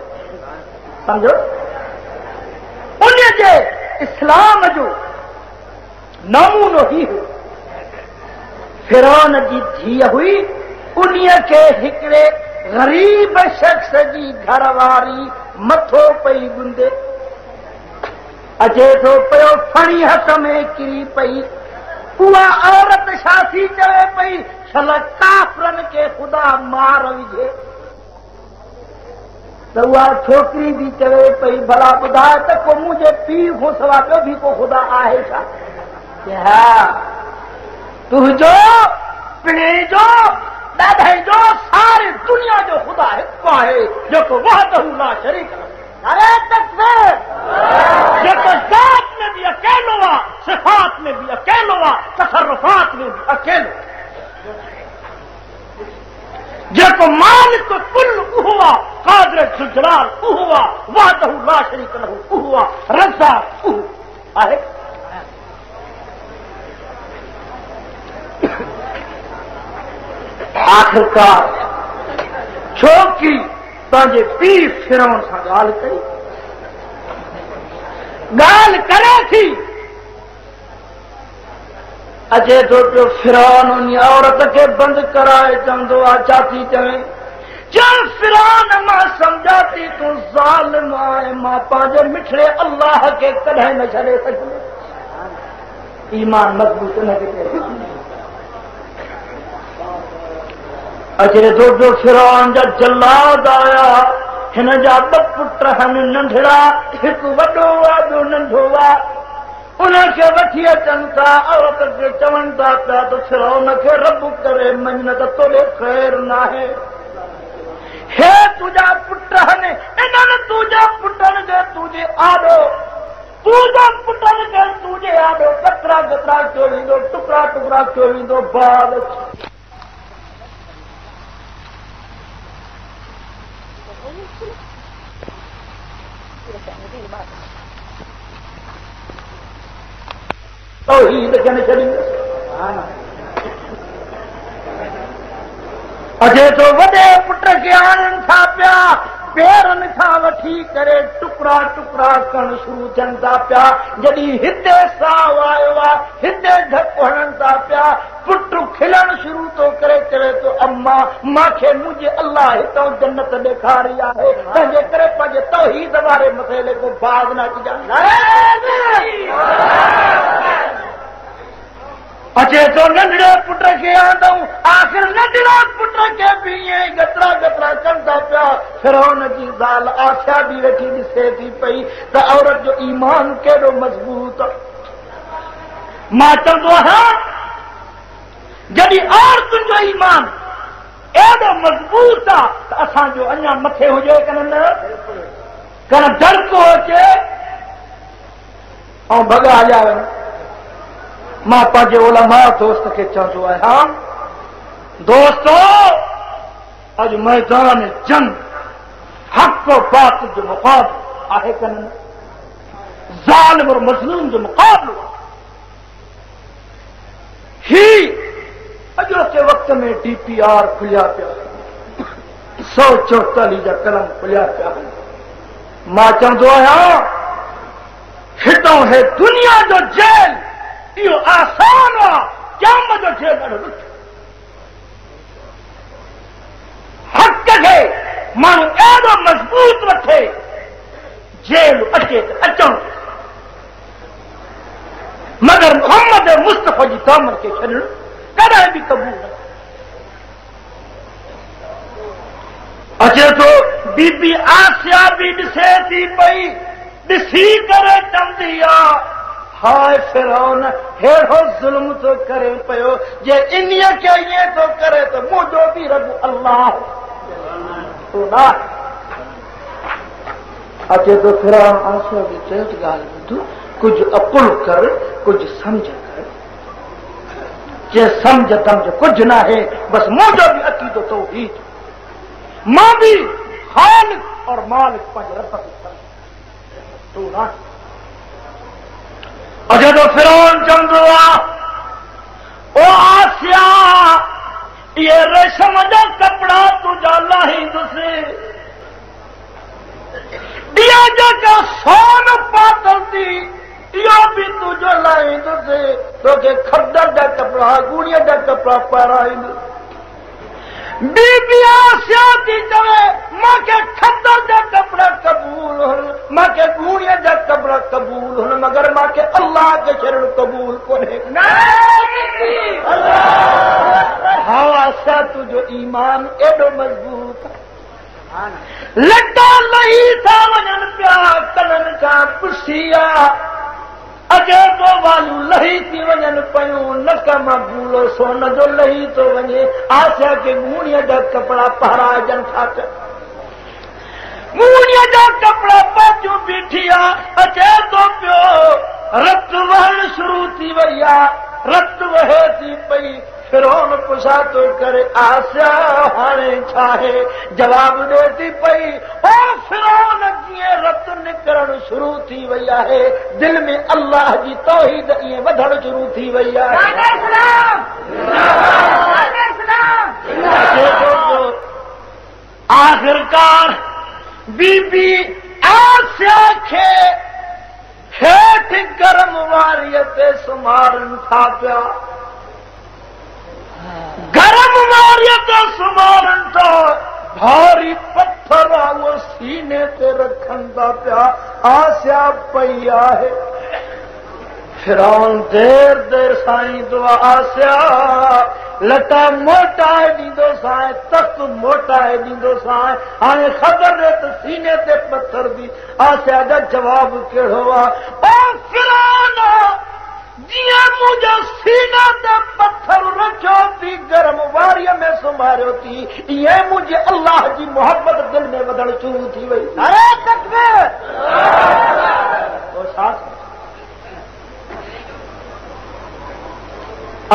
सम्झो उन जे इस्लाम जो नमूनो ही हो। फिरौन जी धीअ हुई, उन्हीअ खे हिकिड़े ग़रीब शख़्स जी घरवारी मथो पई ॻुंधे। अचे थो पियो, फणी हथ में किरी पई। उहा औरत छा थी चवे पई? छल काफ़रनि खे ख़ुदा मार विझे। त उहा छोकिरी बि चवे पई, भला ॿुधाए त को मुंहिंजे पीउ खां सवाइ ॿियो बि को ख़ुदा आहे छा? हा, तुंहिंजो पिणिजो ॾाॾे जो सारी दुनिया जो ख़ुदा हिकु आहे, जेको वहदहू ला शरीक लहू। नारे तकबीर। जेको ज़ात में बि अकेलो आहे, सिफ़ात में बि अकेलो आहे, तसरुफ़ात में बि अकेलो, जेको मालिक कुल उहो आहे, क़ादिर ज़ुल-जलाल उहो आहे, वहदहू ला शरीक लहू उहो आहे, रज़्ज़ाक़ उहो आहे। आख़िरकार छोकिरी पंहिंजे पीउ फिरौन सां ॻाल्हि कई, ॻाल्हि करे थी। अचे थो पियो फिरौन उन औरत खे बंदि कराए चवंदो आहे, छा थी चवे? चओ फिरौन मां सम्झां थी तूं ज़ालिम आहे, मां पंहिंजे मिठड़े अल्लाह खे कॾहिं न छॾे सघंदुसि। ईमान मज़बूत न खे। अचे थो पियो फिरौन जा जल्लाद आया, हिन जा ॿ पुट आहिनि नंढड़ा, हिकु वॾो आहे ॿियो नंढो आहे। उनखे वठी अचनि था, औरत खे चवनि था पिया त फिरौन खे रब करे मञ, न त तोॾे ख़ैर नाहे। हे तुंहिंजा पुट आहिनि, इन्हनि तुंहिंजे पुटनि खे तुंहिंजे आॾो, तुंहिंजे पुटनि खे तुंहिंजे आॾो कतरा कतरा कयो वेंदो, टुकड़ा टुकड़ा कयो वेंदो। बाद तौहीद खे न छॾींदुसि। अचे थो वॾे पुट खे आणनि था पिया, पेरनि खां वठी करे टुकड़ा टुकड़ा करणु शुरू थियनि था पिया। जॾहिं हिते साउ आयो आहे, हिते धक हणनि था पिया, पुट खिलणु शुरू थो करे, चवे थो अम्मा मूंखे मुंहिंजे अल्लाह हितां जन्नत ॾेखारी आहे, तंहिंजे करे पंहिंजे तौहीद वारे मसइले खां बाज़ न अचिजांइ। अचे थो नंढड़े पुट खे आंदऊं, आख़िर नंढड़े पुट खे बि ईअं ई गतरा गतरा कनि था पिया। फिरौन जी ज़ाल आसिया बि वेठी ॾिसे थी पई त औरत जो ईमान केॾो मज़बूत आहे। मां चवंदो आहियां जॾहिं औरतुनि जो ईमान एॾो मज़बूत आहे त असांजो अञा मथे हुजे कन न, कन डरको अचे ऐं भॻा हलिया वञनि। मां पंहिंजे उलमा दोस्त खे चवंदो आहियां, दोस्तो अॼु मैदान जंग हक़ बातिल जो मुक़ाबलो आहे कन न, ज़ालिम और मज़लूम जो मुक़ाबलो आहे। ही अॼोके वक़्त में डी पी आर खुलिया पिया, सौ चौतालीह जा कलम खुलिया पिया आहिनि। मां चवंदो आहियां हितां है दुनिया जो जेल इहो आसान आहे, क़यामत जो जेल ॾाढो ॾुखियो। हक़ खे माण्हू अहिड़ो मज़बूत वठे, जेल अचे त अचणु, मगर मोहम्मद मुस्तफ़ा जी दामन खे छॾणु कॾहिं बि क़बूल न। अचे थो बीबी आसिया बि ॾिसे थी पई, ॾिसी करे चवंदी आहे हाय फिरौन अहिड़ो ज़ुल्म थो करे पियो, जे इन्हीअ खे ईअं थो करे त मुंहिंजो बि रब अल्लाह तूं न। अचे थो फिरौन आसिया बि चयो त ॻाल्हि ॿुध, कुझु अकुल कर, कुझु सम्झ कर। जे सम्झ दम्झ कुझु न आहे, बसि मुंहिंजो बि अक़ीदो तौहीद, मां बि ख़ालिक़ और मालिक पंहिंजे रब खे सम्झ, तूं न। अचे थो फिरौन चवंदो आहे ओ आसिया, इहे रेशम जा कपिड़ा तुंहिंजा लाहींदुसि, इहा जेका सोन पातल थी इहो बि तुंहिंजो लाहींदुसि, तोखे खदर जा कपिड़ा गूणीअ जा कपिड़ा पाराईंदुसि। बीबी आसिया थी चवे मूंखे खदर जा कपिड़ा क़बूल हुन, मूंखे गूणीअ जा कपिड़ा क़बूल हुन, मगर मूंखे अल्लाह खे छॾणु क़बूल कोन्हे। हा आसिया, तुंहिंजो ईमान एॾो मज़बूत, लटा लही था वञनि पिया, कननि खां पुसी आहे, अचे थो वालू लही थी वञनि पयूं, नक मां बूड़ो सोन जो लही थो वञे। आसिया खे गूणीअ जा कपिड़ा पहराइजनि था पिया, गूणीअ जा कपिड़ा पातियूं बीठी आहे। अचे थो पियो रत वहणु शुरू थी वई आहे, रत वहे थी पई। फिरौन पुछा थो करे आसिया हाणे छा आहे? जवाब ॾे थी पई ओ फिरौन, जीअं रत निकिरणु शुरू थी वई आहे, दिलि में अल्लाह जी तौहीद ईअं वधणु शुरू थी वई आहे। आख़िरकार बीबी आसिया खे हेठि गरम वारीअ ते सुम्हारनि था पिया, गरम वारीअ ते सुम्हारनि था, भारी पत्थर आहे उहो सीने ते रखनि था पिया। आसिया पई आहे, फिरौन देरि देरि सां ईंदो आहे, आसिया लटा मोटाए ॾींदोसांइ, तख़्त मोटाए ॾींदोसांइ, हाणे ख़बर ॾे त सीने ते पत्थर दी। आसिया जो जवाबु कहिड़ो आहे? ओ फिरौन, जीअं मुंहिंजो सीना ते पत्थर रखियो थी, गरम वारीअ में सुम्हारियो थी, ईअं मुंहिंजे अल्लाह जी मोहबत दिलि में वधणु शुरू थी वई। अरे तकबीर!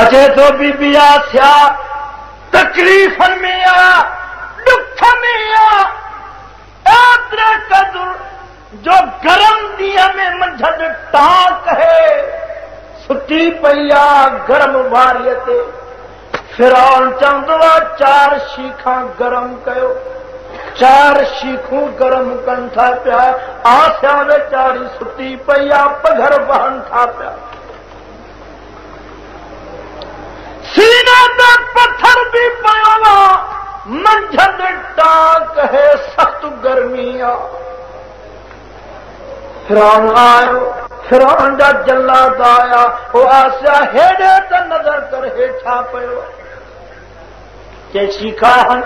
अचे थो बीबी आसिया तकलीफ़नि में आहे, ॾुख में आहे, एतिरे क़दुरु जो गरम ॾींहं में मंझंदि टांक है सुती पई आहे गरम वारीअ ते। फिरौन चवंदो आहे चारि शीखां गरम कयो, चारि शीखूं गरम कनि था पिया। आसिया वीचारी सुती पई आहे, पघर वहनि था पिया, सीने ते पत्थर बि पियो आहे, मंझंदि टांक है, सख़्तु गर्मी आहे। फिरौन आयो, फिरौन जा जल्लाद आया, ओ आसिया हेॾे त नज़र कर, हेठा पियो। चए शीखा हण,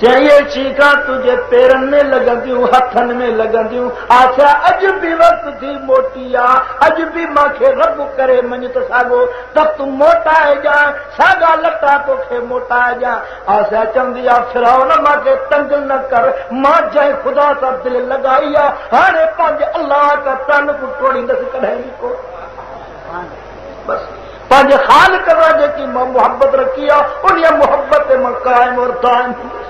चए इहे शीखा तुंहिंजे पेरनि में लॻंदियूं, हथनि में लॻंदियूं। आसिया अॼु बि वक़्तु थी मोटी आहे, अॼु बि मूंखे रब करे मञ त साॻो तख़्त मोटाइजांइ, साॻा लटा तोखे मोटाइजांइ। आसिया चवंदी आहे फिरौन मूंखे तंग न कर, मां जंहिं ख़ुदा सां दिलि लॻाई आहे, हाणे पंहिंजे अल्लाह खां तालुक टोड़ींदसि कॾहिं बि कोन। बसि पंहिंजे ख़ालिक़ सां जेकी मां मोहबत रखी आहे, उन मोहबत ते मां क़ाइम और दाइम थींदुसि।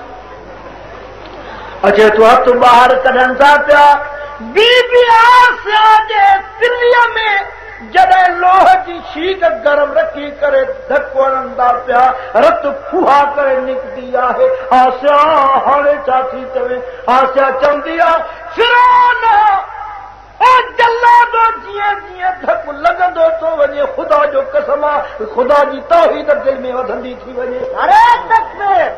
अचे थो हथु ॿाहिरि कढनि था पिया, बीबी आसिया जे तिलीअ में जॾहिं लोह जी शीक गरम रखी करे धक हणंदा पिया, रत फुहा करे निकिती आहे। आसिया हाणे छा थी चवे? आसिया चवंदी आहे फिरौन ओ जल्लादो जीअं जीअं धक लॻंदो थो वञे, ख़ुदा जो कसम आहे ख़ुदा जी तौहीद दिलि में वधंदी थी वञे। अरे तकबीर!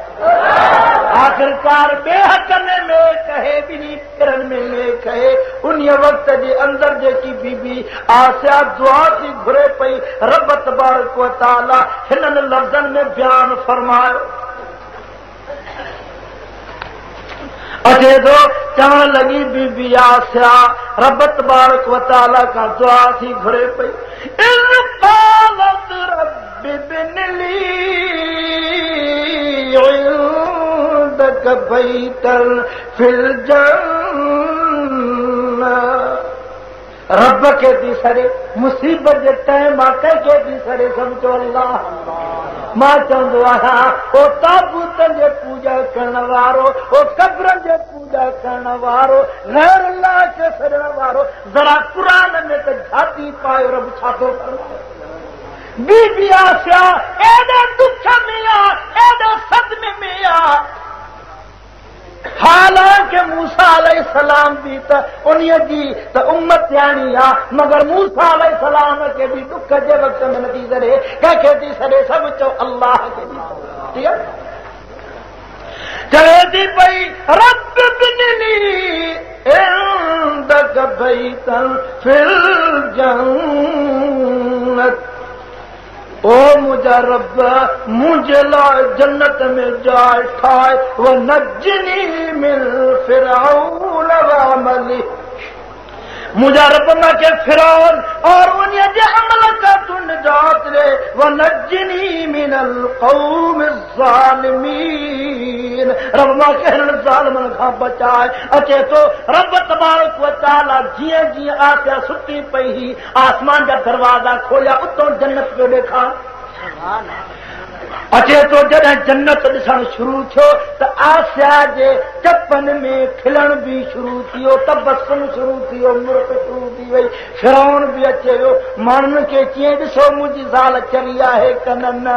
आख़िरकार ॿिए हक़ में मेख आहे, ॿिन्ही पिरनि में मेख आहे। उन वक़्त जे अंदरि जेकी बीबी आसिया दुआ थी घुरे पई, रब तबारक व तआला हिननि लफ़्ज़नि में बयान फरमायो। अचे थो चवण लॻी बीबी आसिया रब तबारक व तआला खां दुआ थी घुरे पई, इन क़ालत रब्बि इब्न ली इंदक बैतन फिल जन्नह। रब खे थी सॾे मुसीबत जे टाइम आहे, कंहिंखे थी सॾे सम्झो अल्लाह। मां चवंदो आहियां ओ ताबूतनि जे पूॼा करण वारो, ओ क़बरनि जे पूॼा करण वारो, ग़ैर अल्लाह खे सॾण वारो, ज़रा क़ुर में त झाती पायो रब छा थो फरमाए। बीबी आसिया एॾे दुख में आहे, एॾे सदमे में आहे। हालांकि मूसा अलैहिस्सलाम बि त उन्हीअ जी त उम्मतियाणी आहे, मगर मूसा अलैहिस्सलाम खे बि दुख जे वक़्त में नथी सॾे। कंहिंखे थी सॾे? सभु चओ अल्लाह खे थी सॾे। ठीकु आहे, चवे थी पई रब इब्न ली इंदक बैतन फिल जन्नत। ओ मुंहिंजा रब मुंहिंजे लाइ जन्नत में जाइ ठाहे, व नजनी मिन फिरौन व अमली। मुंहिंजा रब मूंखे फिरौन और उन्हीअ जे अमल खां तूं निजात ॾे, व नजनी मिनल क़ौम ज़ालिमीन। रब मूंखे हिननि ज़ालिमनि खां बचाए। अचे थो रब तबारक व तआला जीअं जीअं आसिया सुती पई हुई, आसमान जा दरवाज़ा खोलिया, उतां जन्नत पियो ॾेखार। अचे थो जॾहिं जन्नत ॾिसणु शुरू थियो त आसिया जे चपनि में खिलणु बि शुरू थी वियो, तबसम शुरू थी वियो, मुर्क शुरू थी वई। फिरौन बि अचे वियो, माण्हुनि खे चयईं ॾिसो मुंहिंजी ज़ाल चरी आहे कन न,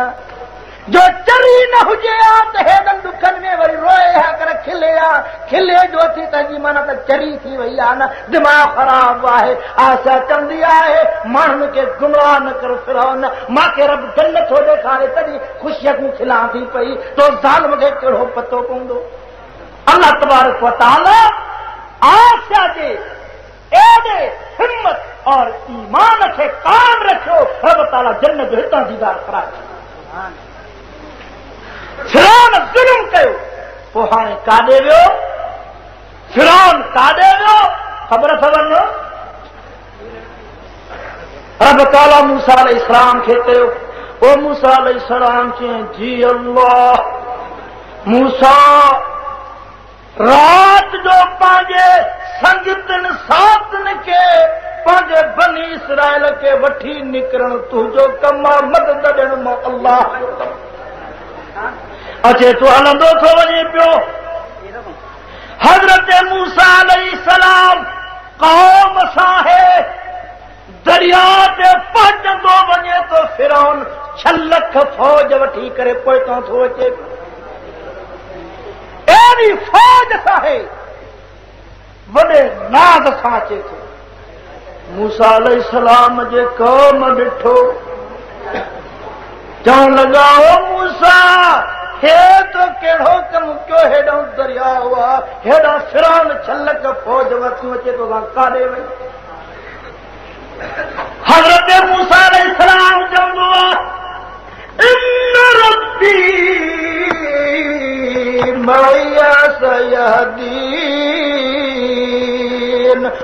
जो चरी न हुजे हा त हेॾनि ॾुखनि में वरी रोए हा कर खिले हा, खिले जो थी तंहिंजी माना त चरी थी वई आहे न, दिमाग़ ख़राबु आहे। आसिया चवंदी आहे माण्हुनि खे गुमराह न कर फिरौन, मूंखे रब जन्नत थो ॾेखारे तॾहिं ख़ुशीअ खां खिलां थी पई, तो ज़ालिम खे कहिड़ो पतो पवंदो। अल्लाह तबारक व तआला आसिया जे एॾे हिमत और ईमान खे कायम रखियो, रब ताला जन्नत जो हितां दीदार कराए। फिरौन ज़ुल्म कयो, पोइ हाणे काॾे वियो? फिरौन काॾे वियो? ख़बर अथव न? रब ताला मूसा अलैहिस्सलाम खे चयो, ओ मूसा अलैहिस्सलाम चयईं जी अल्लाह, मूसा राति जो पंहिंजे संगतनि साथनि खे पंहिंजे बनी इसराइल खे वठी निकिरणु तुंहिंजो कमु आहे, मदद ॾियणु मां अल्लाह जो कमु। अचे थो हलंदो थो वञे पियो। हज़रत मूसा अलैहिस्सलाम क़ौम सां आहे, दरिया ते पहुचंदो वञे थो, फिरौन छह लख फौज वठी करे पोइतां थो अचे। अहिड़ी फौज सां आहे, वॾे नाज़ सां अचे थो। मूसा अलैहिस्सलाम जे क़ौम ॾिठो, चवण लॻा ओ मूसा हे तो कहिड़ो कमु कयो, हेॾां दरिया आहे, हेॾां फिरौन छह लख फौज वठी अचे तो काॾे वई? हज़रत मूसा अलैहिस्सलाम चवंदो आहे इन रब्बी मईया सयहदीन,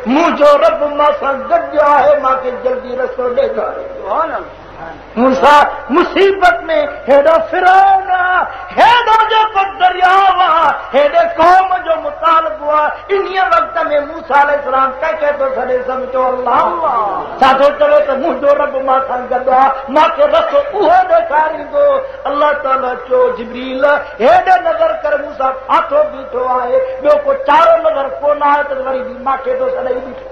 मुंहिंजो रब मां सां गॾु आहे, मूंखे जल्दी रस्तो ॾेखारे। मूसा मुसीबत में हेॾो फिरौन आहे, हेॾो जेको दरियाव आहे, हेॾे क़ौम जो मुतालबो आहे। इन्हीअ वक़्त में मूसा अलैहिस्सलाम कंहिंखे थो सॾे? सम्झो अल्लाह। छा थो चवे त मुंहिंजो रब मां सां गॾु आहे, मूंखे रस्तो उहो ॾेखारींदो। अल्लाह ताला चयो जिब्रील हेॾे नज़र कर, मूसा फाथो बीठो आहे, ॿियो को चारो नज़र कोन आहे त वरी बि मूंखे थो सॾे बीठो।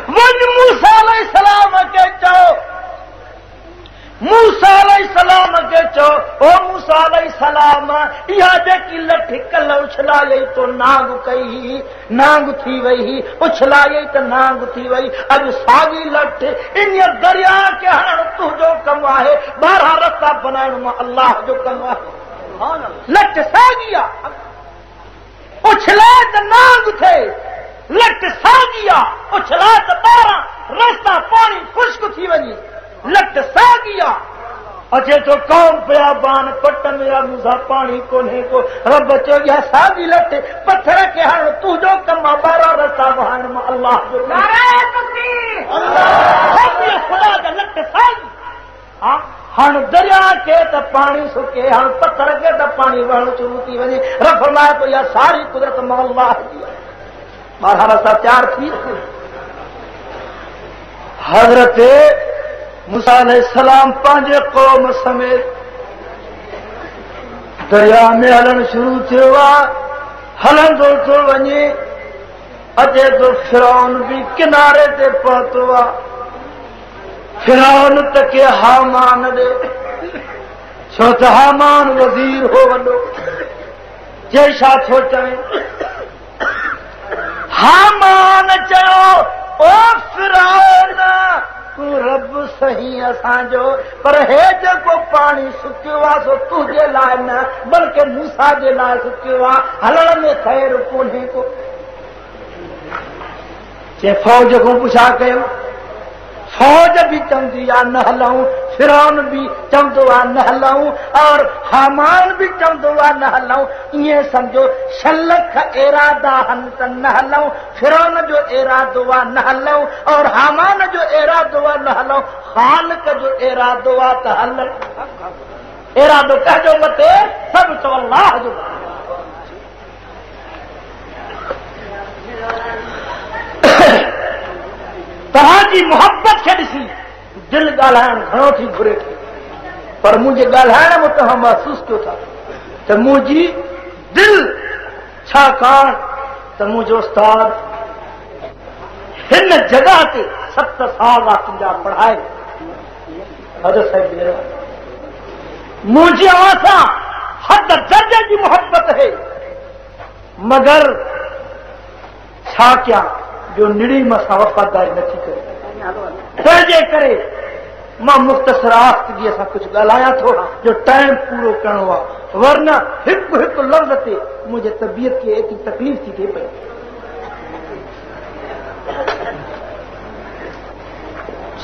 वञ मूसा अलैहिस्सलाम खे चओ, मूसा अलैहिस्सलाम खे चओ, ओ मूसा अलैहिस्सलाम, इहा जेकी लठ कल उछलायई तो नांग कई, नांग थी वई, उछलायई त नांग थी वई। अॼु साॻी लठ इन दरिया खे हणणु तुंहिंजो कमु आहे, ॿारहं रस्ता बनाइणु मां अल्लाह जो कमु आहे। लठ साॻी आहे, उछलाए त नांग थिए, लठ साॻी आहे, उछलाए त ॿारहं रस्ता पाणी ख़ुश्क थी वञे, लठ साॻी आहे। अचे थो कौम पिया बान पट में आहे, मूंसां पाणी कोन्हे को। रब चयो इहा साॻी लठ पथर खे हणणु तुंहिंजो कमु आहे, ॿारहं रस्ता वहाइण मां अल्लाह जो कमु आहे। ख़ुदा जा लठ साॻी। हा, हाणे दरिया खे त पाणी सुके, हाणे पथर खे त पाणी वहणु शुरू थी वञे। रब फरमाए थो इहा सारी कुदरत मां अल्लाह जी आहे। ॿारहं रस्ता तयार थी। हज़रत मूसा अलैहिस्सलाम पंहिंजे क़ौम समेत दरिया में हलणु शुरू थियो आहे, हलंदो थो वञे, अचे थो फिरौन बि किनारे ते पहुतो आहे। फिरौन तके हामान ॾे, छो त हामान वज़ीर हो वॾो, चए छा थो चवे? हामान चयो, ओ फिरौन, तूं रब सही असांजो, पर हे जेको पाणी सुकियो आहे सो तुंहिंजे लाइ न बल्कि मूसा जे लाइ सुकियो आहे, हलण में ख़ैर कोन्हे को। चए फ़ौज खां पुछा कयो, फ़ौज बि चवंदी आहे न हलूं, फिरौन बि चवंदो आहे न हलूं, और हामान बि चवंदो आहे न हलूं। ईअं सम्झो छह लख इरादा आहिनि त न हलूं, फिरौन जो इरादो आहे न हलूं, और हामान जो इरादो आहे न हलूं, ख़ालिक जो इरादो आहे त हल। इरादो कंहिंजो मथे? सभु चओ अल्लाह जो। तव्हांजी मोहबत खे ॾिसी दिलि ॻाल्हाइणु घणो थी घुरे थी, पर मुंहिंजे ॻाल्हाइण में तव्हां महसूसु कयो था त मुंहिंजी दिलि, छाकाणि त मुंहिंजो उस्ताद हिन जॻह ते सत साल तुंहिंजा पढ़ाए हज़रत साहिब, मुंहिंजी अव्हां सां हद दर्जे जी मोहबत है, मगर छा कयां जो निड़ी मां वफ़ादारी नथी करे, तंहिंजे करे मां मुख़्तसर आख़्तगीअ सां कुझु ॻाल्हायां थो जो टाइम पूरो करिणो आहे, वरना हिकु हिकु लफ़्ज़ ते मुंहिंजे तबीयत खे एतिरी तकलीफ़ थी थिए पई।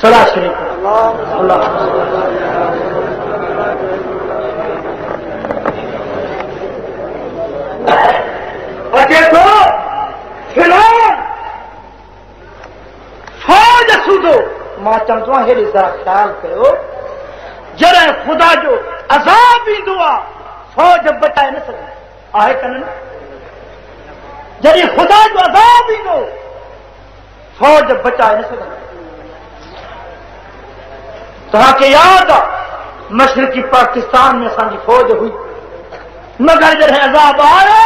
सलाह शरीफ़ अल्लाह अचे थो फिलहाल फ़ौज सूदो। मां चवंदो आहियां हेॾे ज़रा ख़्यालु कयो, जॾहिं ख़ुदा जो अज़ाब ईंदो आहे फ़ौज बचाए न सघंदी आहे कन न? जॾहिं ख़ुदा जो अज़ाब ईंदो फ़ौज बचाए न सघंदी। तव्हांखे यादि आहे मशरिकी पाकिस्तान में असांजी फ़ौज हुई, मगर जॾहिं अज़ाब आयो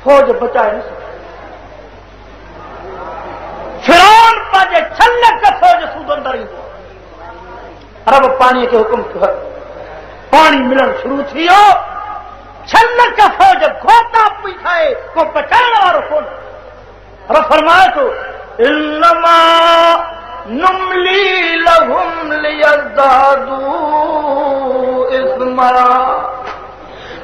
फ़ौज बचाए न सघी। फिरौन पंहिंजे छह लख फ़ौज सूदो अंदरि ईंदो आहे, रब पाणीअ खे हुकुम कयो, पाणी मिलणु शुरू थी वियो, छह लख फ़ौज घोता पई खाए, को बचाइण वारो कोन। रब फरमाए थो इन्नमा नुमली लहुम लियज़दादू इस्मा,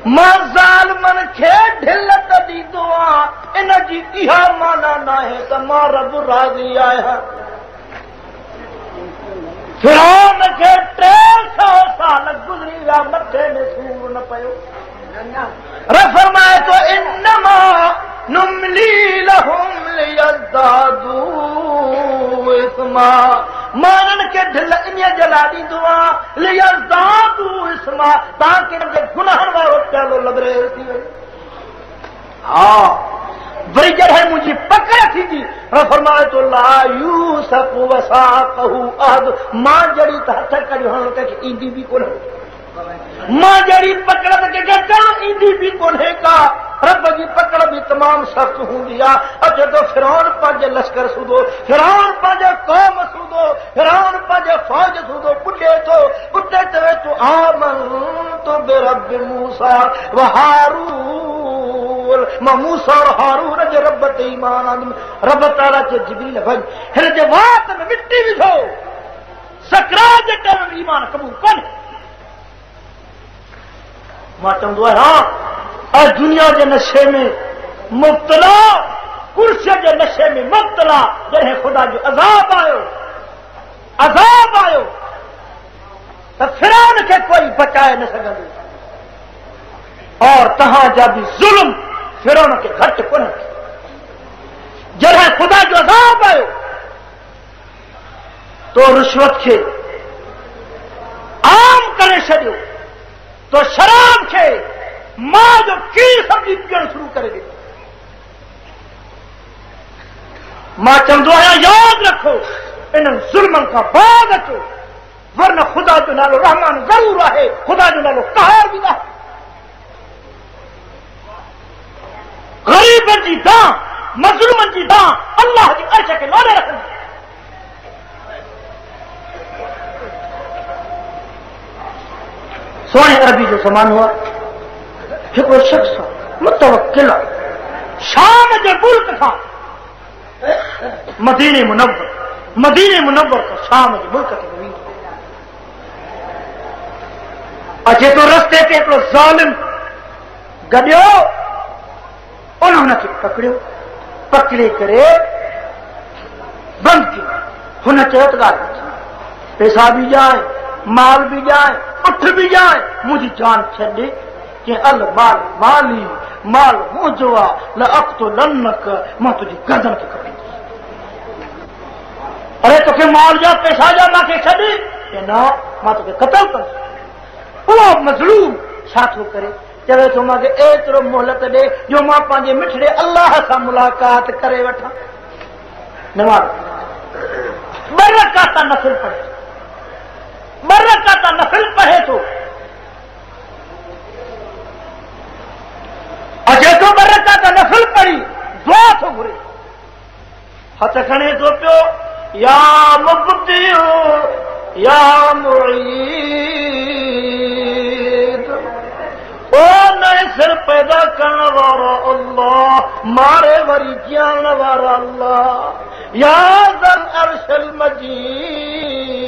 मां ज़ालिमनि खे ढिल त ॾींदो आहियां, इन जी इहा माना नाहे त मां रब राज़ी आहियां। फिरौन खे टे सौ साल गुज़री विया, मथे में सूर न पियो। रब फरमाए थो इन्नमा नुमली लहुम लियज़दादू इस्मा, मां इन्हनि खे ढिल इन जे लाइ ॾींदो आहियां लियज़दादू इस्मा, ताकी इन्हनि खे गुनाहनि वारो प्यालो लबरेज़ थी वञे। हा, वरी जॾहिं मुंहिंजी पकड़ थींदी, रब फरमाए थो ला यूसफ़ वसाक़हू अहद, मां जहिड़ी त हथ कढी हणणु कंहिंखे ईंदी बि कोन्हे, मां जहिड़ी पकड़ त कंहिंखे करणु ईंदी बि कोन्हे का। रब जी पकड़ बि तमामु सख़्तु हूंदी आहे। अचे थो फिरौन पंहिंजे लश्कर सूदो, फिरौन पंहिंजे क़ौम सूदो, फिरौन पंहिंजे फ़ौज सूदो पुॼे थो, उते चवे थो आमनतु बिरब मूसा व हारून, मां मूसा और हारून जे रब ते ईमान आंदुमि। रब ताला चयो जिब्रील वञ हिन जे वात में मिटी विझो, सकरात जे टाइम में ईमान क़बूल कोन्हे। मां चवंदो आहियां ऐं दुनिया जे नशे में मुब्तला, कुर्सीअ जे नशे में मुब्तला, जॾहिं ख़ुदा जो अज़ाब आयो, अज़ाब आयो त फिरौन खे कोई बचाए न सघंदो। और तव्हांजा बि ज़ुल्म फिरौन खे घटि कोन्हे। जॾहिं ख़ुदा जो अज़ाब आयो तो रिश्वत खे आम करे छॾियो, तो शराब खे मां जो खीर सम्झी पीअणु शुरू करे ॾिनो। मां चवंदो आहियां यादि रखो इन्हनि ज़ुल्मनि खां बाद अचो, वरना ख़ुदा जो नालो रहमान ज़रूरु आहे, ख़ुदा जो नालो क़हार बि न आहे। ग़रीबनि जी दां, मज़लूमनि जी दां अल्लाह जी अर्श खे लोड़े रखंदी। सोणे अरबी जो ज़मानो आहे, हिकिड़ो शख़्स मुतवकिल आहे, शाम जे मुल्क खां मदीने मुनव्वर, मदीने मुनव्वर खां शाम जे मुल्क ते वेंदो। अचे थो रस्ते ते हिकिड़ो ज़ालिम गॾियो, उन हुनखे पकड़ियो, पकड़े करे बंदि कयो। हुन चयो त ॻाल्हि पैसा बि ॾियांए, माल बि ॾियांए, उठ बि ॾियांए, मुंहिंजी जान छॾे। के अल माल माली, माल मुंहिंजो आहे, ल अक़्तुलन्नक, मां तुंहिंजी गर्दन खे कपींदुसि। अरे तोखे माल जा पैसा जा मूंखे छॾ, न मां तोखे क़तल कंदुसि। उहो मज़लूम छा थो करे? चवे थो मूंखे एतिरो मोहलत ॾे जो मां पंहिंजे मिठड़े अल्लाह सां मुलाक़ात करे वठां। नमाज़ ॿ रकात नफ़िल पढ़े, ॿ रकात नफ़िल पढ़े थो, अचे थो ॿ रकात नफ़िल पढ़ी दुआ थो घुरे, हथ खणे थो पियो, या मुब्दिउ या मुईद, ओ नए सिर पैदा करण वारो अल्लाह, मारे वरी जीअण वारो अल्लाह, या ज़ल अर्शल मजीद,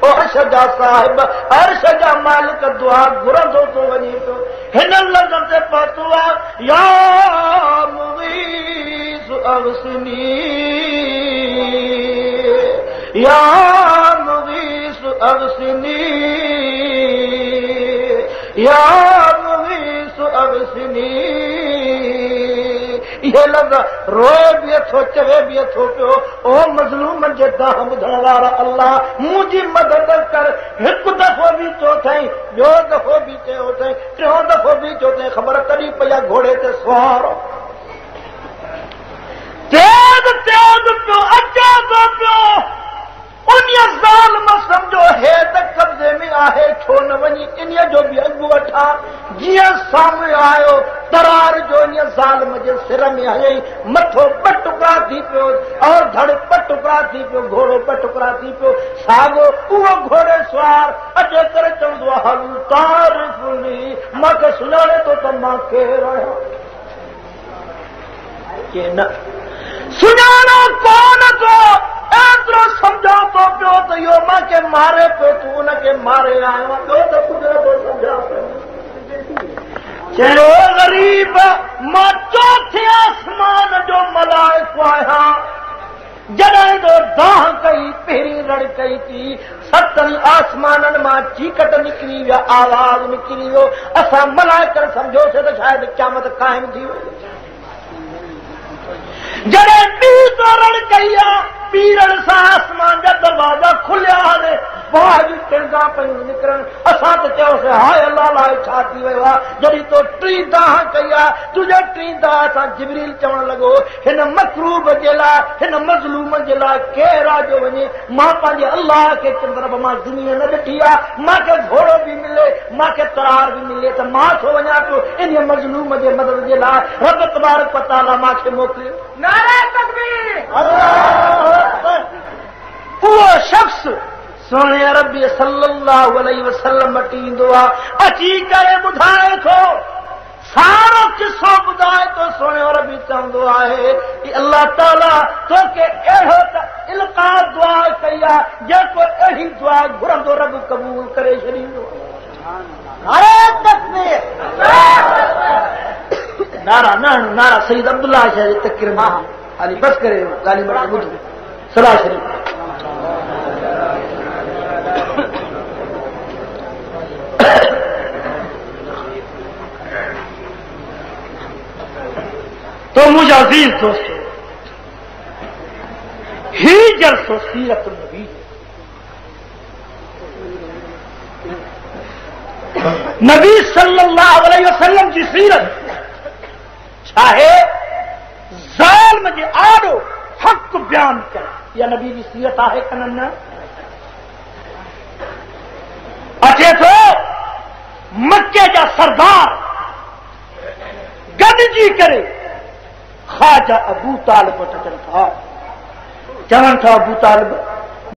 ओ अर्श जा साहिब, अर्श जा मालिक, दुआ घुरंदो थो वञे पियो। हिननि लफ़्ज़नि ते पहुतो आहे, या मुगीस अगसिनी, या मुगीस अगसिनी, या मुगीस अगसिनी। इहे लफ़्ज़ रोए बि अथो, चवे बि अथो पियो, ओ मज़लूमनि जे दांह ॿुधण वारा अल्लाह मुंहिंजी मदद कर। हिकु दफ़ो बि चयो अथई, ॿियो दफ़ो बि चयो अथई, टियों दफ़ो बि चयो अथई, ख़बर कॾहिं पई आहे घोड़े ते सवार तेज़ तेज़ पियो अचे थो पियो। उन ज़ालिम सम्झो हे त कब्ज़े में आहे, छो न वञी इन्हीअ जो बि अॻु वठां। जीअं साम्हूं आयो तरार जो इन ज़ालिम जे सिर में हयई, मथो ॿ टुकड़ा थी पियो और धड़ ॿ टुकड़ा थी पियो, घोड़ो ॿ टुकड़ा थी पियो। साॻो उहो घोड़े सवार अचे करे चवंदो आहे हल तारिफुनी, मूंखे सुञाणे थो त मां केरु आहियां। के न सुञाणो कोन थो, एतिरो सम्झां थो पियो त इहो मूंखे मारे पियो, तूं उनखे मारे आयो आहीं, ॿियो त कुझु नथो सम्झां पियो। चयो ग़रीब मां चोथे आसमान जो मलाइक आहियां, जॾहिं तो दाह कई पहिरीं रड़ कई थी, सतनि आसमाननि मां चीकट निकिरी विया, आवाज़ निकिरी वियो, असां मलाइकनि सम्झोसीं त शायदि क़यामत क़ाइमु थी वई। जॾहिं ॿी तो रड़ कई आहे, ॿी रड़ सां आसमान जा दरवाज़ा खुलिया आहिनि, बाहि जूं टेंगा पयूं निकिरनि। असां त चयोसीं हाय अल्लाह लाइ छा थी वियो आहे, जॾहिं तो टी दाह कई आहे, तुंहिंजे टी दाह सां जिब्रील चवणु लॻो हिन मकरूब जे लाइ, हिन मज़लूम जे लाइ केरु आहे जो वञे? मां पंहिंजे अल्लाह खे चवंदुमि, मां ज़मीन न ॾिठी आहे, मूंखे घोड़ो बि मिले, मूंखे तरार बि मिले, त मां छो वञा पियो इन मज़लूम जे मदद जे लाइ? रब तबारक व तआला मूंखे मोकिलियो। नारा तकबीर। उहो शख़्स सुहिणे अरबी सल्लल्लाहु अलैहि वसल्लम वटि ईंदो आहे, अची करे ॿुधाए थो, सारो किसो ॿुधाए थो। सुहिणे अरबी चवंदो आहे की अल्लाह ताला तोखे अहिड़ो त इल्का दुआ कई आहे, जेको अहिड़ी दुआ घुरंदो रब क़बूल करे छॾींदो। नारा न हणो, नारा सईद अब्दुल्ला शाह जे तकरीर में हाली बस करे ॻाल्हि ॿुधो सलाह शरीफ। तो मुंहिंजा अज़ीज़ दोस्तो, ही जलसो सीरत नबी नबी सल्लल्लाहु अलैहि वसल्लम जी सीरत छाहे ज़ालिम जे आॾो हक़ बयान करे, इहा नबी जी सीरत आहे कन न? अचे थो मक्के जा सरदार गॾिजी करे ख्वाजा अबू तालिब वटि अचनि था, चवनि था अबू तालिब